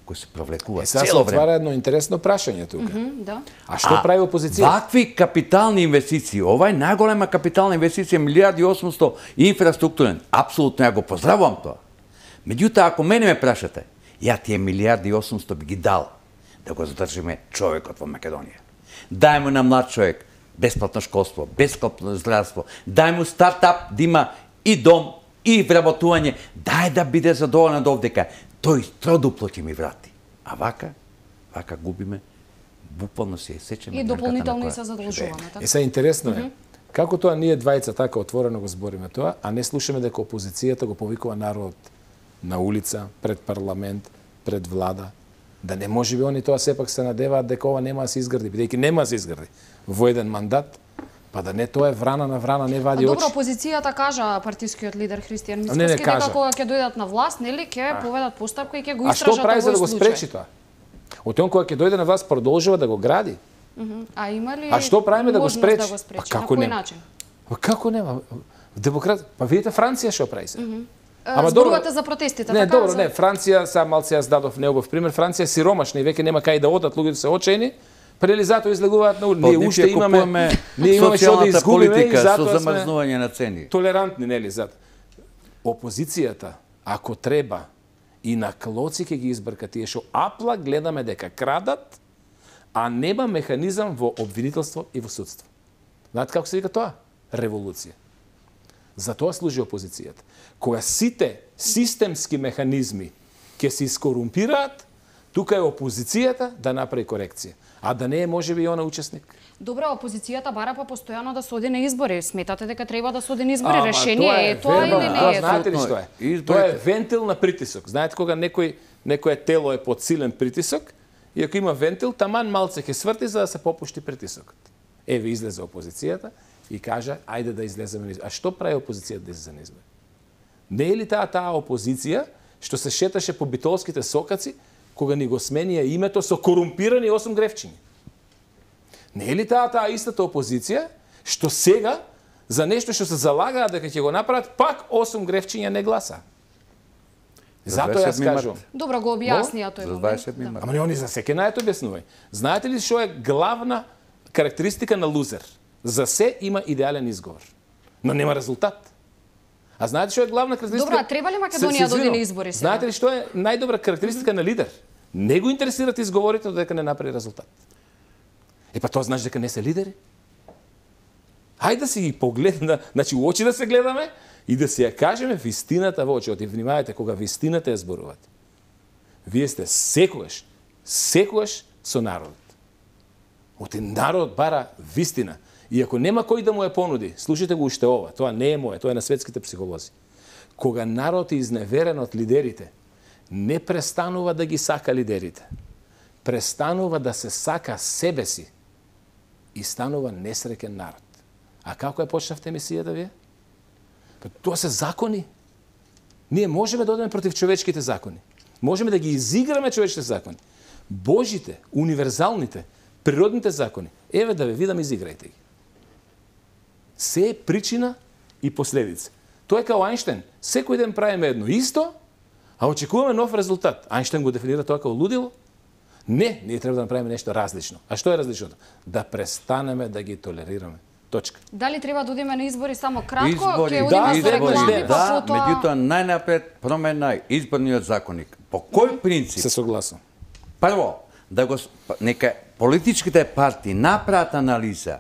кои се провлекува Е, сега се цело време. отвара едно интересно прашање тука. Да. А што прави опозицијата? Вакви капитални инвестиции, ова е најголема капитална инвестиција, милијарди и осумсто инфраструктурен. Апсолутно ја го поздравувам тоа. Меѓутоа, ако мене ме прашате, ја тие милијарди и осумсто би ги дал да го задржиме човекот во Македонија. Дај му на млад човек бесплатно школство, бесплатно здравство, дај му стартап да има и дом, и вработување, дај да биде задоволен од овдека. Тој тroduplo ќе ми врати. А вака, вака губиме, буквално се сеќаме. И дополнително и се задолжуваме. Е, сега интересно е, како тоа ние двајца така отворено го збориме тоа, а не слушаме дека опозицијата го повикува народот на улица, пред парламент, пред влада, да не може би они тоа сепак се надеваат дека ова нема да се изгради, бидејќи нема да се изгради во еден мандат, па да не тоа е врана на врана, не вади очи. Добро, опозицијата кажа партискиот лидер Христијан Не, не Мицкоски дека кажа. кога ќе дојдат на власт, нели ќе поведат постапка и ќе го А истражат што прави за да го овој спречи случај. тоа? Од он кога ќе дојде на власт продолжува да го гради. Мгм. А има ли А што правиме да го можност спречи? Да го спречи? Па На како кој нема? начин? Па како нема? Демократ, па видите Франција што прави се. Ама зборувате за протестите, Не, така? добро, за... не, Франција, сега малце јас дадов неубав пример, Франција е сиромашна и веќе нема кај да одат, луѓето се очени, прели затоа излегуваат на улица. Ние уште имаме, ние имаме што да изгубиме и политика со затоа сме замрзнување на цени. толерантни, нели, зад. Опозицијата, ако треба, и на клоци ќе ги избрка тие што апла гледаме дека крадат, а нема механизам во обвинителство и во судство. Знаете како се вика тоа? Револуција. За тоа служи опозицијата. Кога сите системски механизми ќе се искорумпираат, тука е опозицијата да направи корекција. А да не е можеби и она учесник. Добра, опозицијата бара па постојано да се оди на избори. Сметате дека треба да се оди на избори? Ама, Решение е тоа вербал, или не тоа е? знаете ли Апсолутно што е. е? Изборите- Тоа е вентил на притисок. Знаете кога некој некое тело е под силен притисок и ако има вентил, таман малце ќе сврти за да се попушти притисокот. Еве излезе опозицијата и кажа ајде да излеземе на избори. А што прави опозицијата да излезе на избори? Не е ли таа таа опозиција што се шеташе по битолските сокаци кога ни го сменија името со корумпирани осум грефчиња? Не е ли таа таа истата опозиција што сега за нешто што се залагаат дека ќе го направат, пак осум грефчиња не гласа? Затоа јас дваесет март. кажувам. Добро, го објаснија тој За момент. дваесет Да. март. Ама не они за секој најд објаснувај. Знаете ли што е главна карактеристика на лузер? За се има идеален изговор, но нема резултат. А знаете што е главна карактеристика? Добро, а треба ли Македонија Се- се да оди на извинувам. избори сега? Знаете ли што е најдобра карактеристика на лидер? Не го интересираат изговорите додека не направи резултат. Е па тоа значи дека не се лидери. Хајде да си ги погледна, значи у очи да се гледаме и да си ја кажеме вистината во очи. Оти внимавајте кога вистината ја зборувате. Вие сте секогаш, секогаш со народот. Оти народот бара вистина. И ако нема кој да му ја понуди, слушайте го уште ова, тоа не е мое, тоа е на светските психолози. Кога народот е изневерен од лидерите, не престанува да ги сака лидерите. Престанува да се сака себе си и станува несреќен народ. А како ја почнавте емисијата вие? Па тоа се закони. Ние можеме да одеме против човечките закони. Можеме да ги изиграме човечките закони. Божите, универзалните, природните закони. Еве да ве видам, изиграјте ги. Се е причина и последица. Тоа е као Ајнштен. Секој ден правиме едно исто, а очекуваме нов резултат. Ајнштен го дефинира тоа како лудило. Не, ние треба да направиме нешто различно. А што е различното? Да престанеме да ги толерираме. Точка. Дали треба да одиме на избори само кратко, Избори, ќе да, одиме со избори, реклами, да, па потоа... меѓутоа најнапред промена изборниот законник. По кој принцип? Се согласам. Прво, да го сп- нека политичките партии направат анализа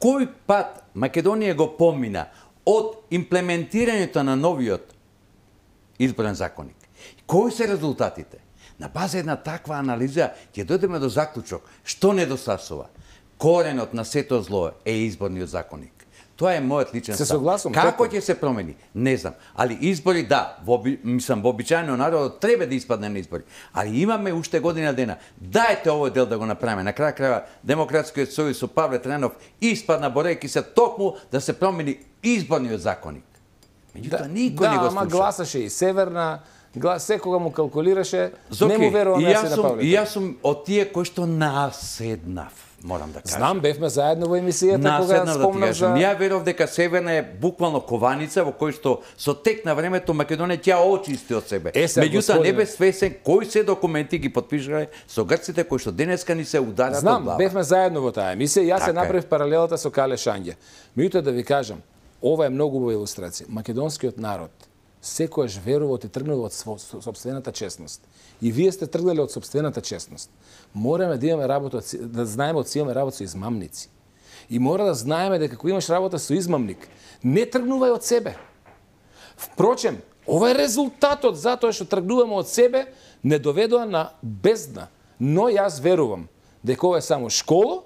кој пат Македонија го помина од имплементирањето на новиот изборен законник. Кои се резултатите? На база една таква анализа ќе дојдеме до заклучок што недостасува. Коренот на сето зло е изборниот законник. Тоа е мојот личен Се став. согласувам, Како така. ќе се промени? Не знам. Али избори, да, во, оби- мислам, вообичаено народот треба да испадне на избори. Али имаме уште година дена. Дајте овој дел да го направиме. На крај крајва Демократскиот сојуз со Павле Тренов испадна борејќи се токму да се промени изборниот законник. Меѓутоа никој не го ама слуша. гласаше и Северна, глас секога му калкулираше, Зоки, не му верувам и јас јас на сум, Павле. и јас сум од тие кои што наседнав, морам да кажам. Знам, бевме заедно во емисијата кога Наседнав да ти спомнав кажам. за... Ја веров дека Северна е буквално кованица во кој што со тек на времето Македонија ќе очисти од себе. Е, сега, Меѓутоа не господине. бе свесен кои се документи ги потпишале со грците кои што денеска ни се ударат од Знам, глава. бевме заедно во таа емисија, јас Така се е. направив паралелата со Кале Шање. Меѓутоа да ви кажам, ова е многу убава илустрација. Македонскиот народ секојаш верува и тргнува од сопствената честност. И вие сте тргнале од сопствената честност. Мораме да имаме работа, да знаеме од си имаме работа со измамници. И мора да знаеме дека кога имаш работа со измамник, не тргнувај од себе. Впрочем, ова е резултатот затоа што тргнуваме од себе, не доведува на бездна. Но јас верувам дека ова е само школа,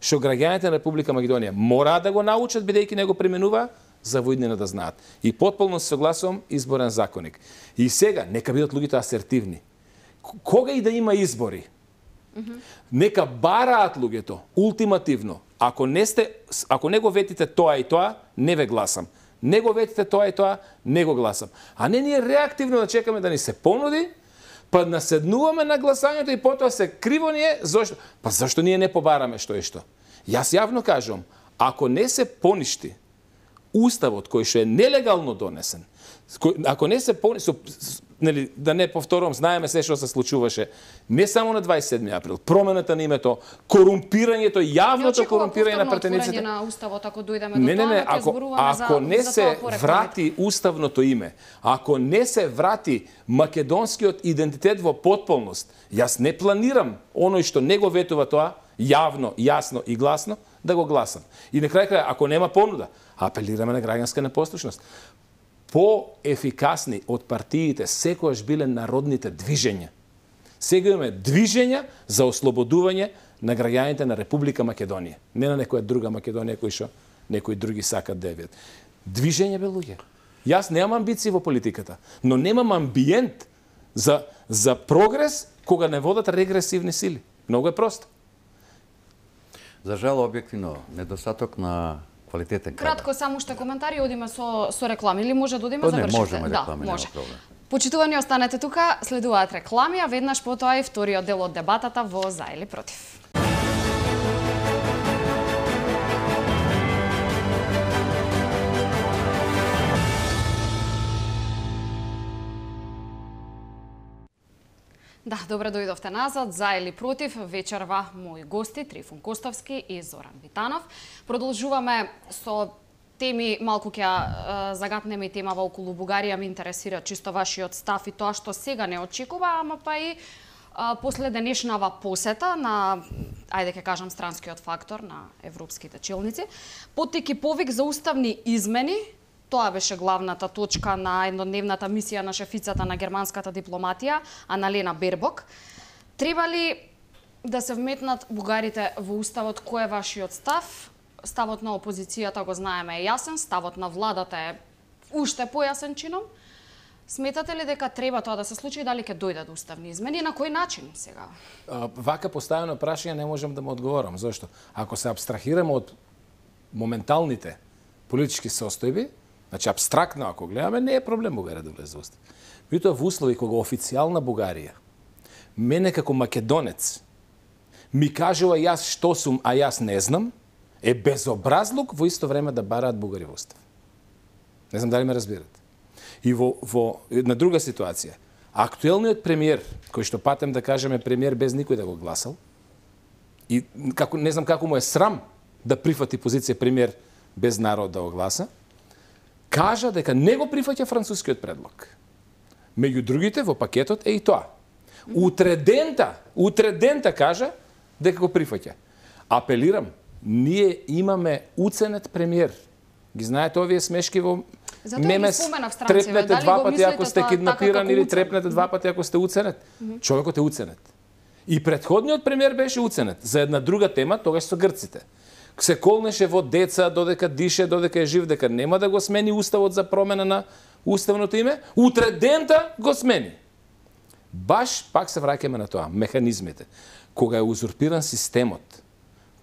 што граѓаните на Република Македонија мораат да го научат бидејќи не го применува за воиднина да знаат. И потполно се согласувам изборен законник. И сега нека бидат луѓето асертивни. Кога и да има избори, mm-hmm. нека бараат луѓето ултимативно. Ако не сте, ако не го ветите тоа и тоа, не ве гласам. Не го ветите тоа и тоа, не го гласам. А не ние реактивно да чекаме да ни се понуди, па наседнуваме на гласањето и потоа се криво ние, зашто? Па зашто ние не побараме што и што? Јас јавно кажувам, ако не се поништи уставот кој што е нелегално донесен, ако не се поништи, нели, да не повторувам, знаеме се што се случуваше, не само на дваесет и седми април, промената на името, корумпирањето, јавното корумпирање на претениците. На уставот ако дојдеме Не, до не, не, тоа, ако, ако не се врати уставното име, ако не се врати македонскиот идентитет во потполност, јас не планирам оној што не го ветува тоа, јавно, јасно и гласно, да го гласам. И на крај крај, ако нема понуда, апелираме на граѓанска непослушност. По-ефикасни од партиите секојаш биле народните движења. Сега имаме движења за ослободување на граѓаните на Република Македонија. Не на некоја друга Македонија кој што некои други сакат да видат. Движење бе луѓе. Јас немам амбиции во политиката, но немам амбиент за за прогрес кога не водат регресивни сили. Многу е просто. За жал, објективно, недостаток на квалитетен кадар. Кратко, само уште коментари, одиме со, со реклами, или може да одиме, Не, завршите? можеме реклами, да, може. нема проблем. Почитувани, останете тука, следуваат реклами, а веднаш потоа и вториот дел од дебатата во за или против. Да, добре дојдовте назад, за или против, вечерва мои гости, Трифун Костовски и Зоран Витанов. Продолжуваме со теми, малку ќе загатнеме и темава околу Бугарија, ме интересира чисто вашиот став и тоа што сега не очекува, ама па и а, после денешнава посета на, ајде ќе кажам, странскиот фактор на европските челници, поттеки повик за уставни измени. Тоа беше главната точка на еднодневната мисија на шефицата на германската дипломатија, Аналена Бербок. Треба ли да се вметнат бугарите во уставот? Кој е вашиот став? Ставот на опозицијата го знаеме е јасен, ставот на владата е уште појасен чином. Сметате ли дека треба тоа да се случи и дали ќе дојдат уставни измени? На кој начин сега? Вака поставено прашање не можам да му одговорам. Зошто? Ако се абстрахираме од моменталните политички состојби, значи, абстрактно, ако гледаме, не е проблем Бугарија да влезе во устав. Меѓутоа, во услови кога официјална Бугарија, мене како македонец, ми кажува јас што сум, а јас не знам, е безобразлук во исто време да бараат бугари во устав. Не знам дали ме разбирате. И во, во на друга ситуација, актуелниот премиер, кој што патем да кажеме премиер без никој да го гласал, и како, не знам како му е срам да прифати позиција премиер без народ да го гласа, кажа дека не го прифаќа францускиот предлог. Меѓу другите во пакетот е и тоа. Утредента, утредента кажа дека го прифаќа. Апелирам, ние имаме уценет премиер. Ги знаете овие смешки во мемес, трепнете два пати ако сте киднапиран или трепнете два пати ако сте уценет. Човекот е уценет. И претходниот премиер беше уценет за една друга тема, тогаш со грците. Се колнеше во деца, додека дише, додека е жив, дека нема да го смени уставот за промена на уставното име, утредента го смени. Баш пак се враќаме на тоа, механизмите. Кога е узурпиран системот,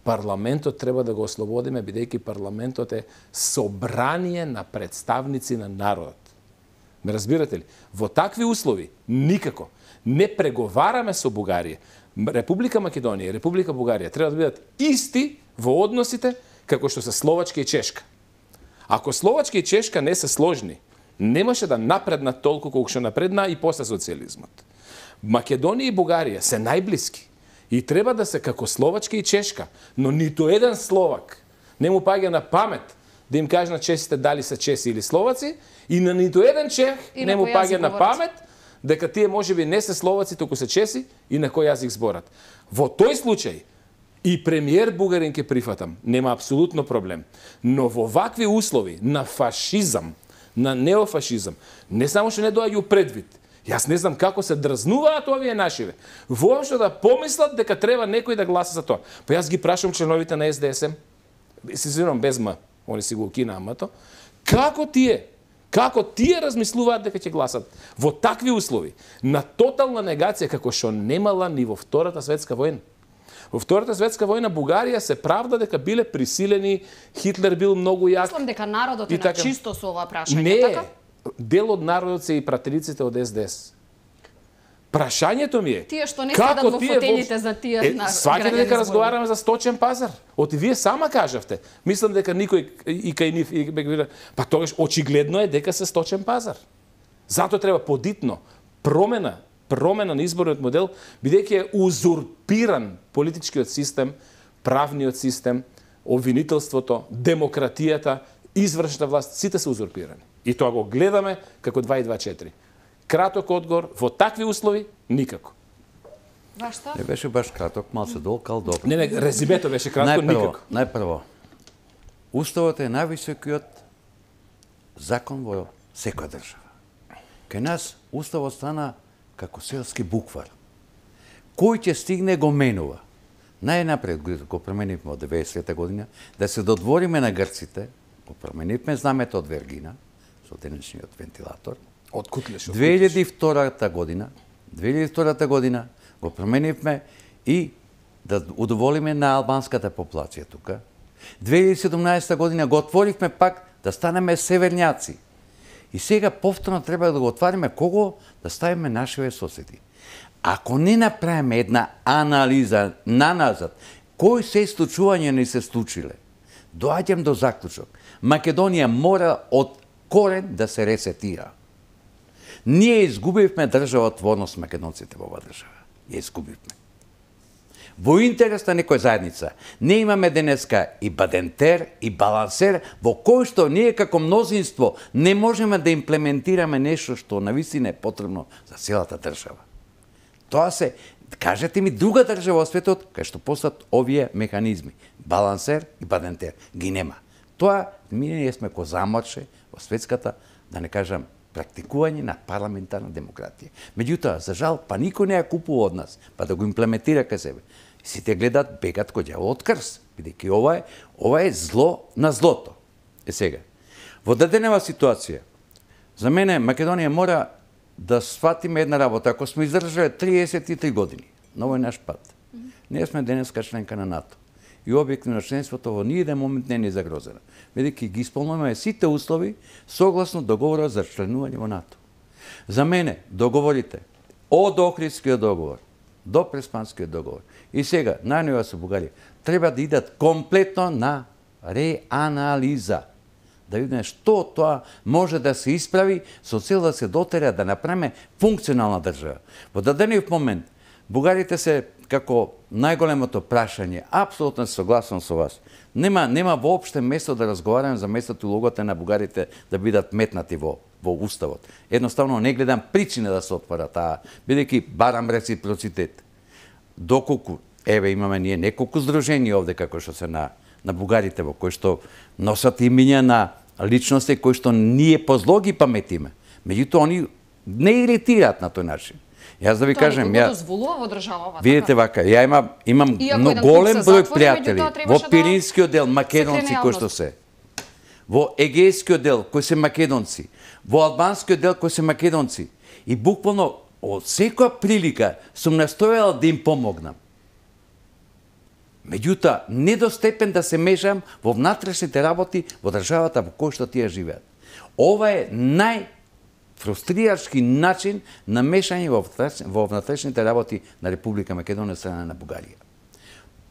парламентот треба да го ослободиме, бидејќи парламентот е собрание на представници на народот. Ме разбирате ли? Во такви услови никако не преговараме со Бугарија. Република Македонија и Република Бугарија треба да бидат исти во односите како што се Словачка и Чешка. Ако Словачка и Чешка не се сложни, немаше да напреднат толку колку што напредна и после социализмот. Македонија и Бугарија се најблиски и треба да се како Словачка и Чешка, но ниту еден Словак не му паѓа на памет да им каже на чесите дали се чеси или словаци, и на ниту еден чех и не му паѓа на памет дека тие можеби не се словаци, туку се чеси и на кој јазик зборат. Во тој случај и премиер бугарин ке прифатам, нема апсолутно проблем. Но во вакви услови на фашизам, на неофашизам, не само што не доаѓа предвид, јас не знам како се дрзнуваат овие нашиве, воопшто да помислат дека треба некој да гласа за тоа. Па јас ги прашам членовите на Ес Де Ес Ем, се зирам без М, они си го укина амато, како тие, како тие размислуваат дека ќе гласат во такви услови, на тотална негација како што немала ни во Втората светска војна. Во Втората светска војна Бугарија се правда дека биле присилени, Хитлер бил многу јак. Мислам дека народот е на така... чисто со ова прашање, не, така? Дел од народот се и пратениците од Ес Де Ес. Прашањето ми е, тие што не седат во фотелите за тие е, на сваќате дека разговараме за сточен пазар? Оти вие сама кажавте. Мислам дека никој и кај нив и па тогаш очигледно е дека се сточен пазар. Затоа треба подитно промена, промена на изборниот модел, бидејќи е узурпиран политичкиот систем, правниот систем, обвинителството, демократијата, извршната власт, сите се узурпирани. И тоа го гледаме како два и два четири. Краток одговор, во такви услови, никако. Вашта? Не беше баш краток, мал се долкал, добро. Не, не, резимето беше кратко, најпрво, никако. Најпрво, Уставот е највисокиот закон во секоја држава. Кај нас Уставот стана како селски буквар. Кој ќе стигне го менува. Најнапред го променивме од деветдесета година, да се додвориме на грците, го променивме знамето од Вергина, со денешниот вентилатор. Од Кутлеш. две илјади и втора година, две илјади и втора година го променивме и да удоволиме на албанската популација тука. две илјади и седумнаесета година го отворивме пак да станеме северњаци. И сега повторно треба да го отвариме кого да ставиме нашиве соседи. Ако не направиме една анализа наназад, кои се случувања не се случиле, доаѓам до заклучок. Македонија мора од корен да се ресетира. Ние изгубивме државотворност македонците во оваа држава. Ја изгубивме. Во интерес на некоја заедница. Не имаме денеска и бадентер, и балансер, во кој што ние како мнозинство не можеме да имплементираме нешто што навистина е потребно за целата држава. Тоа се, кажете ми друга држава во светот кај што постат овие механизми. Балансер и бадентер. Ги нема. Тоа, ние сме ко заморше во светската, да не кажам, практикување на парламентарна демократија. Меѓутоа, за жал, па никој не ја купува од нас, па да го имплементира кај себе. Сите гледат бегат кој ѓавол од крст, бидејќи ова е, ова е зло на злото. Е сега, во даденава ситуација, за мене Македонија мора да сватиме една работа. Ако сме издржале триесет и три години на овој наш пат, ние сме денеска членка на НАТО. И објективно членството во ниеден момент не ни е загрозено. Бидејќи ги исполнуваме сите услови согласно договорот за членување во НАТО. За мене, договорите од Охридскиот договор до Преспанскиот договор и сега најнова со Бугарија треба да идат комплетно на реанализа. Да видиме што тоа може да се исправи со цел да се дотера да направиме функционална држава. Во дадениот момент бугарите се како најголемото прашање, апсолутно се согласувам со вас. Нема нема воопште место да разговараме за местото и улогата на бугарите да бидат метнати во во уставот. Едноставно не гледам причина да се отвора таа, бидејќи барам реципроцитет. Доколку еве имаме ние неколку здруженија овде како што се на на бугарите во кои што носат имиња на личности кои што ние позло ги паметиме. Меѓутоа они не иритираат на тој начин. Јас да ви тоа кажем, ја дозволува во државава. видите вака, ја имам имам но голем број пријатели во Пиринскиот дел македонци кои што се, во Егејскиот дел кои се македонци, во Албанскиот дел кои се македонци и буквално од секоја прилика сум настојал да им помогнам. Меѓутоа, не до степен да се мешам во внатрешните работи во државата во која што тие живеат. Ова е нај фрустрирачки начин на мешање во, во внатрешните работи на Република Македонија страна на Бугарија.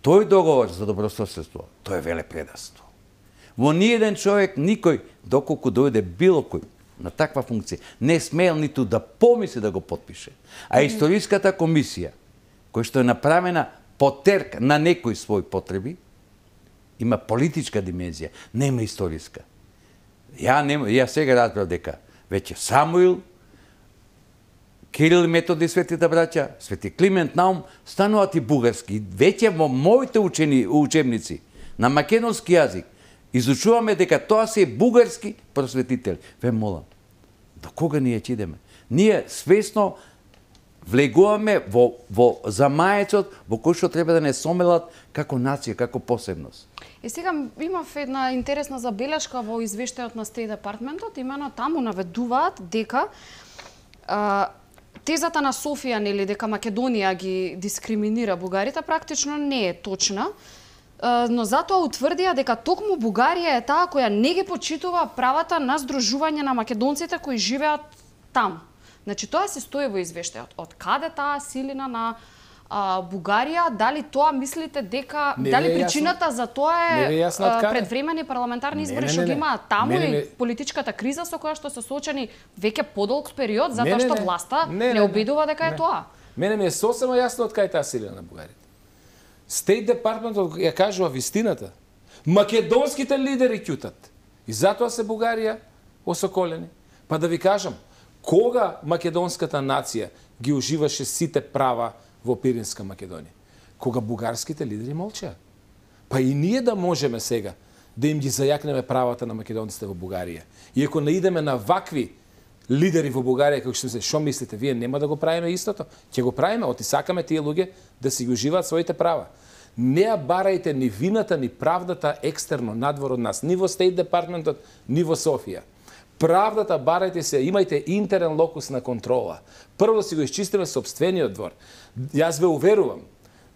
Тој договор за добрососедство, тој е велепредавство. Во ниеден човек, никој, доколку дојде било кој на таква функција, не смел ниту да помисли да го потпише. А историската комисија, која што е направена потерк на некои своји потреби, има политичка димензија, нема историска. Ја, нема, ја сега разбрав дека веќе Самуил, Кирил и Методи, светите браќа, Свети Климент Наум, стануваат и бугарски. Веќе во моите учени, учебници на македонски јазик изучуваме дека тоа се бугарски просветители. Ве молам, до кога ние ќе идеме? Ние свесно влегуваме во, во замаецот во кој што треба да не сомелат како нација, како посебност. И сега имав една интересна забелешка во извештајот на State Department-от, имено таму наведуваат дека а, тезата на Софија, нели, дека Македонија ги дискриминира бугарите, практично не е точна, а, но затоа утврдија дека токму Бугарија е таа која не ги почитува правата на здружување на македонците кои живеат таму. Значи, тоа се стои во извештајот. Од каде таа силина на а, Бугарија, дали тоа мислите дека, не дали е причината јасно, за тоа е, е а, предвремени парламентарни избори што ги имаат таму не, не, не. и политичката криза со која што се соочени веќе подолг период, затоа не, не, што не. власта не, не, не обидува дека не. е тоа. Мене ми е сосема јасно од кај таа силина на бугарите. State Department ја кажува вистината. Македонските лидери ќутат. И затоа се Бугарија осоколени. Па да ви кажам, кога македонската нација ги уживаше сите права во Пиринска Македонија? Кога бугарските лидери молчеа. Па и ние да можеме сега да им ги зајакнеме правата на македонците во Бугарија. И ако не идеме на вакви лидери во Бугарија, како што се, што мислите, вие нема да го правиме истото? Ќе го правиме, оти сакаме тие луѓе да си ги уживаат своите права. Не ја барајте ни вината, ни правдата екстерно, надвор од нас, ни во State Department-от, ни во Софија. Правдата барајте се, имајте интерен локус на контрола. Прво да си го исчистиме сопствениот двор. Јас ве уверувам,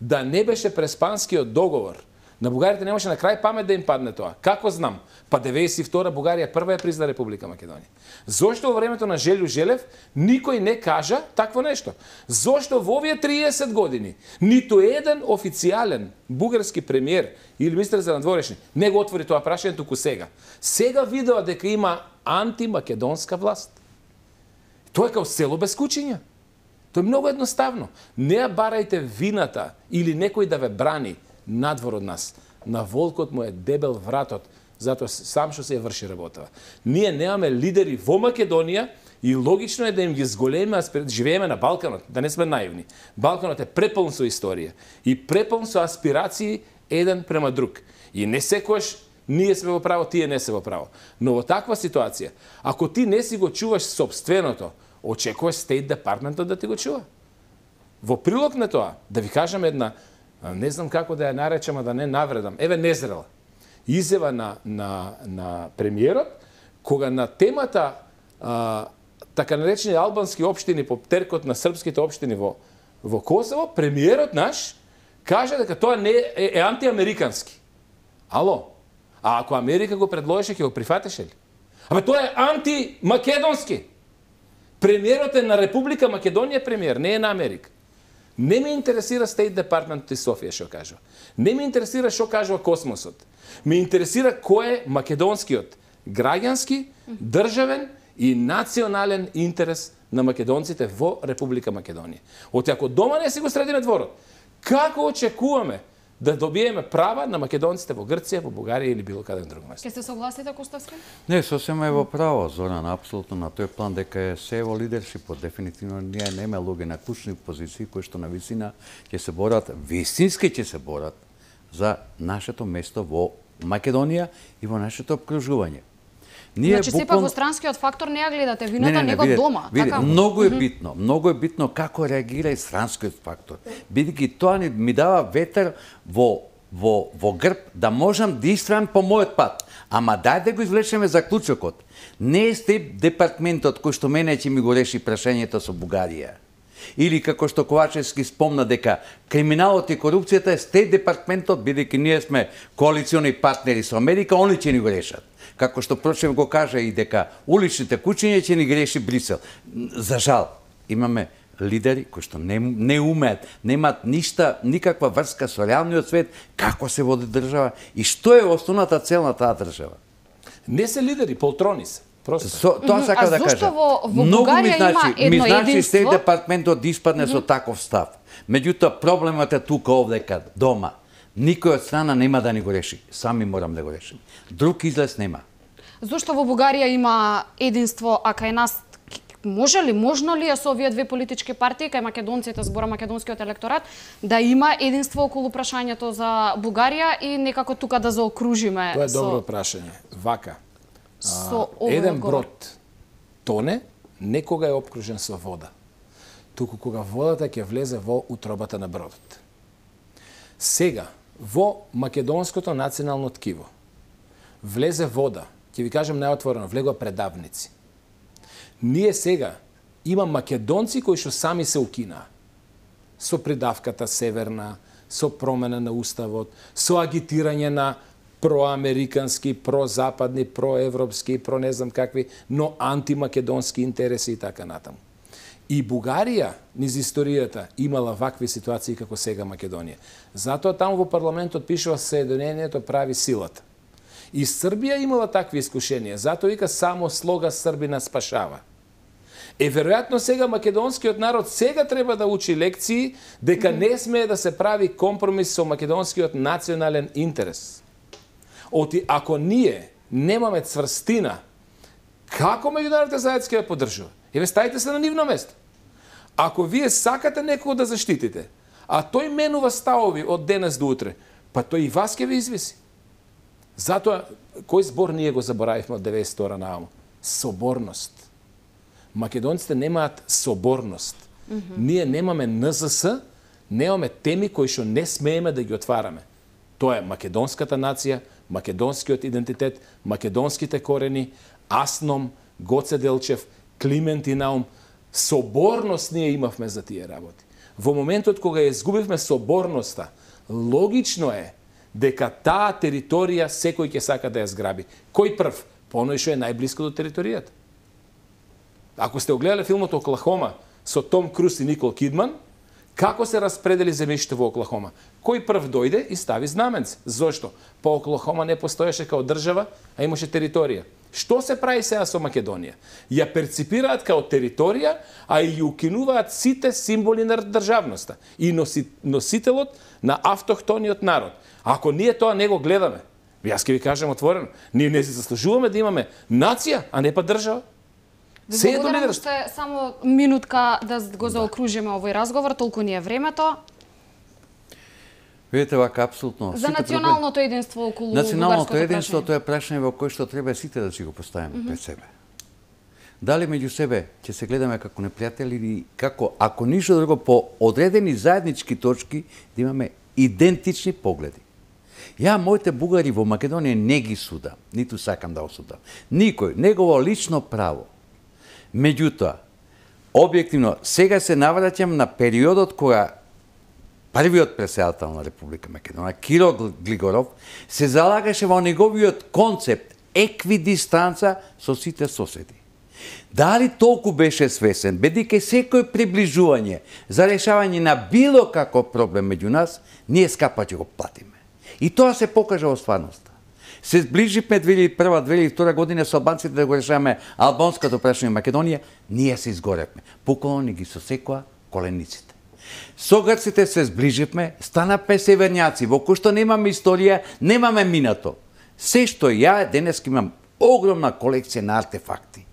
да не беше преспанскиот договор, на бугарите немаше на крај памет да им падне тоа. Како знам? Па деветдесет и втора Бугарија прва ја призна Република Македонија. Зошто во времето на Желју Желев никој не кажа такво нешто? Зошто во овие триесет години ниту еден официјален бугарски премиер или министер за надворешни не го отвори тоа прашање, туку сега. Сега видува дека има антимакедонска власт. Тоа е као село без кучиња. Тоа е многу едноставно. Не ја барајте вината или некој да ве брани надвор од нас. На волкот му е дебел вратот, затоа сам што се ја врши работава. Ние немаме лидери во Македонија и логично е да им ги зголеме, живееме на Балканот, да не сме наивни. Балканот е препълн со историја и препълн со аспирации еден према друг. И не секојаш ние сме во право, тие не се во право. Но во таква ситуација, ако ти не си го чуваш собственото, очекуваш State Department да ти го чува. Во прилог на тоа, да ви кажам една, не знам како да ја наречам, а да не навредам, еве незрела изјава на, на, на премиерот, кога на темата а, така наречени албански општини по теркот на српските општини во, во Косово, премиерот наш каже дека тоа не е, е антиамерикански. Ало? А ако Америка го предложеше, ќе го прифатеше ли? Абе тоа е антимакедонски. Премиерот е на Република Македонија премиер, не е на Америка. Не ме интересира State Department и Софија што кажува. Не ме интересира што кажува космосот. Ме интересира кој е македонскиот граѓански, државен и национален интерес на македонците во Република Македонија. Оти ако дома не си го средиме дворот, како очекуваме да добиеме права на македонците во Грција, во Бугарија или било каде друго место? Ке се согласите, Коставски? Не, сосема е во право, Зоран, апсолутно на тој план дека е се во лидершипот. Дефинитивно ние нема луѓе на клучни позиции кои што на висина ќе се борат, вистински ќе се борат за нашето место во Македонија и во нашето обкружување. Ние значи, буквално... сепак во странскиот фактор не ја гледате вината, не, не, не, него видите, дома. Видите, така? Многу е битно, многу е битно како реагира и странскиот фактор. Бидејќи тоа ни ми дава ветер во, во, во грб да можам да истрам по мојот пат. Ама дај да го извлечеме заклучокот. Не е State Департментот кој што мене ќе ми го реши прашањето со Бугарија. Или како што Ковачевски спомна дека криминалот и корупцијата е Стейт департментот, бидејќи ние сме коалициони партнери со Америка, они ќе ни го решат. Како што прочем го кажа и дека уличните кучиња ќе ни ги реши Брисел. За жал, имаме лидери кои што не, не умеат, немаат ништа, никаква врска со реалниот свет, како се води држава и што е основната цел на таа држава. Не се лидери, полтрони се. Просто. Со, тоа сакам да кажа. А зошто во, во Бугарија значи, има едно ми значи единство? Стейт департментот да испадне mm -hmm. со таков став. Меѓутоа, проблемот е тука овдека, дома. Никој од страна нема да ни го реши. Сами морам да го решим. Друг излез нема. Зошто во Бугарија има единство, а кај нас може ли, можно ли е со овие две политички партии, кај македонците, збора македонскиот електорат, да има единство околу прашањето за Бугарија и некако тука да заокружиме? Тоа е со... добро прашање. Вака. Со А, еден брод тоне, некога е обкружен со вода. Туку кога водата ќе влезе во утробата на бродот. Сега, во македонското национално ткиво, влезе вода, ќе ви кажам најотворено, влегоа предавници. Ние сега има македонци кои што сами се укинаа. Со придавката северна, со промена на уставот, со агитирање на проамерикански, прозападни, проевропски, про не знам какви, но антимакедонски интереси и така натаму. И Бугарија, низ историјата, имала вакви ситуации како сега Македонија. Затоа таму во парламентот пишува Соединението прави силата. И Србија имала такви искушенија, затоа вика само слога Србина спашава. Е, веројатно сега македонскиот народ сега треба да учи лекции дека mm -hmm. не смее да се прави компромис со македонскиот национален интерес. Оти, ако ние немаме цврстина, како меѓународните заедници ќе поддржува? Еве, ставите се на нивно место. Ако вие сакате некого да заштитите, а тој менува ставови од денес до утре, па тој и вас ќе ви извиси. Затоа, кој збор ние го заборавивме од деветдесет втора нааму? Соборност. Македонците немаат соборност. Mm -hmm. Ние немаме Н З С, немаме теми кои што не смееме да ги отвараме. Тоа е македонската нација, македонскиот идентитет, македонските корени, Асном, Гоце Делчев, Климент и Наум. Соборност ние имавме за тие работи. Во моментот кога ја изгубивме соборноста, логично е дека таа територија секој ќе сака да ја зграби. Кој прв? Поној што е најблиско до територијата. Ако сте огледале филмот Оклахома со Том Круз и Никол Кидман, како се распредели земјиште во Оклахома? Кој прв дојде и стави знаменце? Зошто? Па Оклахома не постоеше као држава, а имаше територија. Што се прави сега со Македонија? Ја перципираат као територија, а и ја укинуваат сите символи на државноста и носи, носителот на автохтониот народ. Ако ние тоа не го гледаме, јас ќе ви кажам отворено, ние не се заслужуваме да имаме нација, а не па држава. Се е до лидерство. Само минутка да го заокружиме овој разговор, толку ни е времето. Видите, вака, апсолутно. За националното проблем... единство околу Националното единство, тоа е прашање во кој што треба сите да си го поставиме mm -hmm. пред себе. Дали меѓу себе ќе се гледаме како непријатели или како, ако ништо друго, по одредени заеднички точки, да имаме идентични погледи. Ја моите бугари во Македонија не ги судам, ниту сакам да осудам. Никој, негово лично право. Меѓутоа, објективно, сега се навраќам на периодот кога првиот председател на Република Македонија, Киро Глигоров, се залагаше во неговиот концепт еквидистанца со сите соседи. Дали толку беше свесен, бидејќи секој приближување за решавање на било каков проблем меѓу нас, ние скапа ќе го платиме. И тоа се покажа во стварноста. Се зближивме две илјади и прва - две илјади и втора година со албанците да го решаваме албанското прашање Македонија, ние се изгоревме. Буквално ни ги сосекоа колениците. Со грците се зближивме, станавме северњаци, во кој што немаме историја, немаме минато. Се што ја денес имам огромна колекција на артефакти.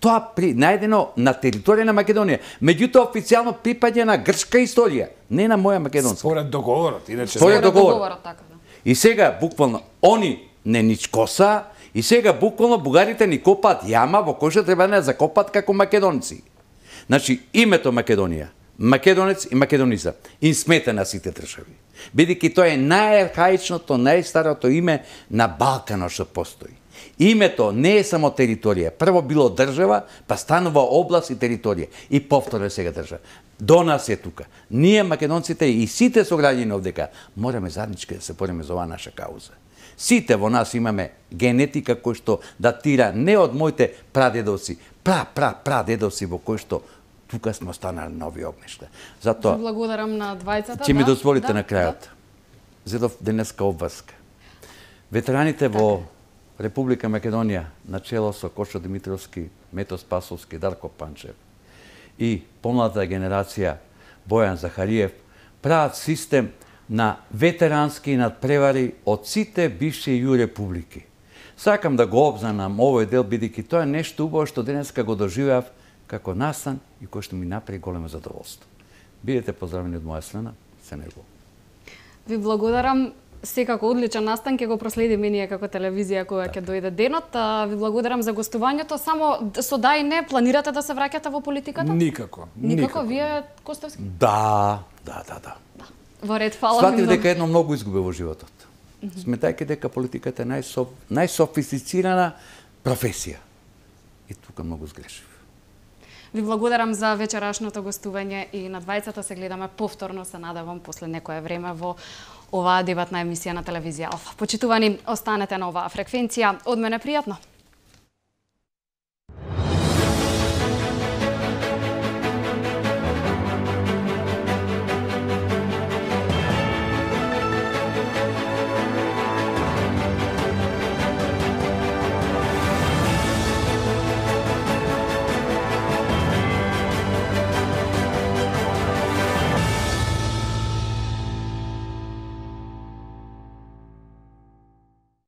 Тоа при најдено на територија на Македонија, меѓутоа официјално припаѓа на грчка историја, не на моја македонска. Според договорот, иначе. Според договорот. договорот така да. И сега буквално они не ничкоса, и сега буквално бугарите ни копаат јама во кој што треба да не закопат како македонци. Значи, името Македонија, македонец и македониза, им смета на сите држави. Бидејќи тоа е најархаичното, најстарото име на Балканот што постои. Името не е само територија. Прво било држава, па станува област и територија. И повторно сега држава. До нас е тука. Ние, македонците и сите сограѓани овдека, мораме заеднички да се бориме за оваа наша кауза. Сите во нас имаме генетика кој што датира не од моите прадедовци, пра, пра, прадедовци во кој што тука сме останали на овие огништа. Затоа, благодарам на двајцата. ќе ми да, дозволите да, на крајот. Да. Зедов денеска обврска. Ветераните во Република Македонија, начело со Кошо Димитровски, Мето Спасовски, Дарко Панчев и помладата генерација Бојан Захариев, прават систем на ветерански надпревари од сите бивши ју републики. Сакам да го обзнанам овој дел, бидејќи тоа е нешто убаво што денеска го доживеав како настан и кој што ми направи големо задоволство. Бидете поздравени од моја страна, се него. Ви благодарам. Секако одличен настан, ќе го проследиме ние како телевизија кога ќе дојде денот. Ви благодарам за гостувањето. Само со да и не, планирате да се враќате во политиката? Никако. Никако, вие, Костовски? Да, да, да, да. Во ред, фала ви Сватив многу. дека едно многу изгубе во животот. Сметајќи дека политиката е најсоф... најсофистицирана професија. И тука многу сгрешив. Ви благодарам за вечерашното гостување и на двајцата се гледаме повторно, се надевам, после некое време во оваа дебатна емисија на телевизија Алфа. Почитувани, останете на оваа фреквенција. Од мене пријатно.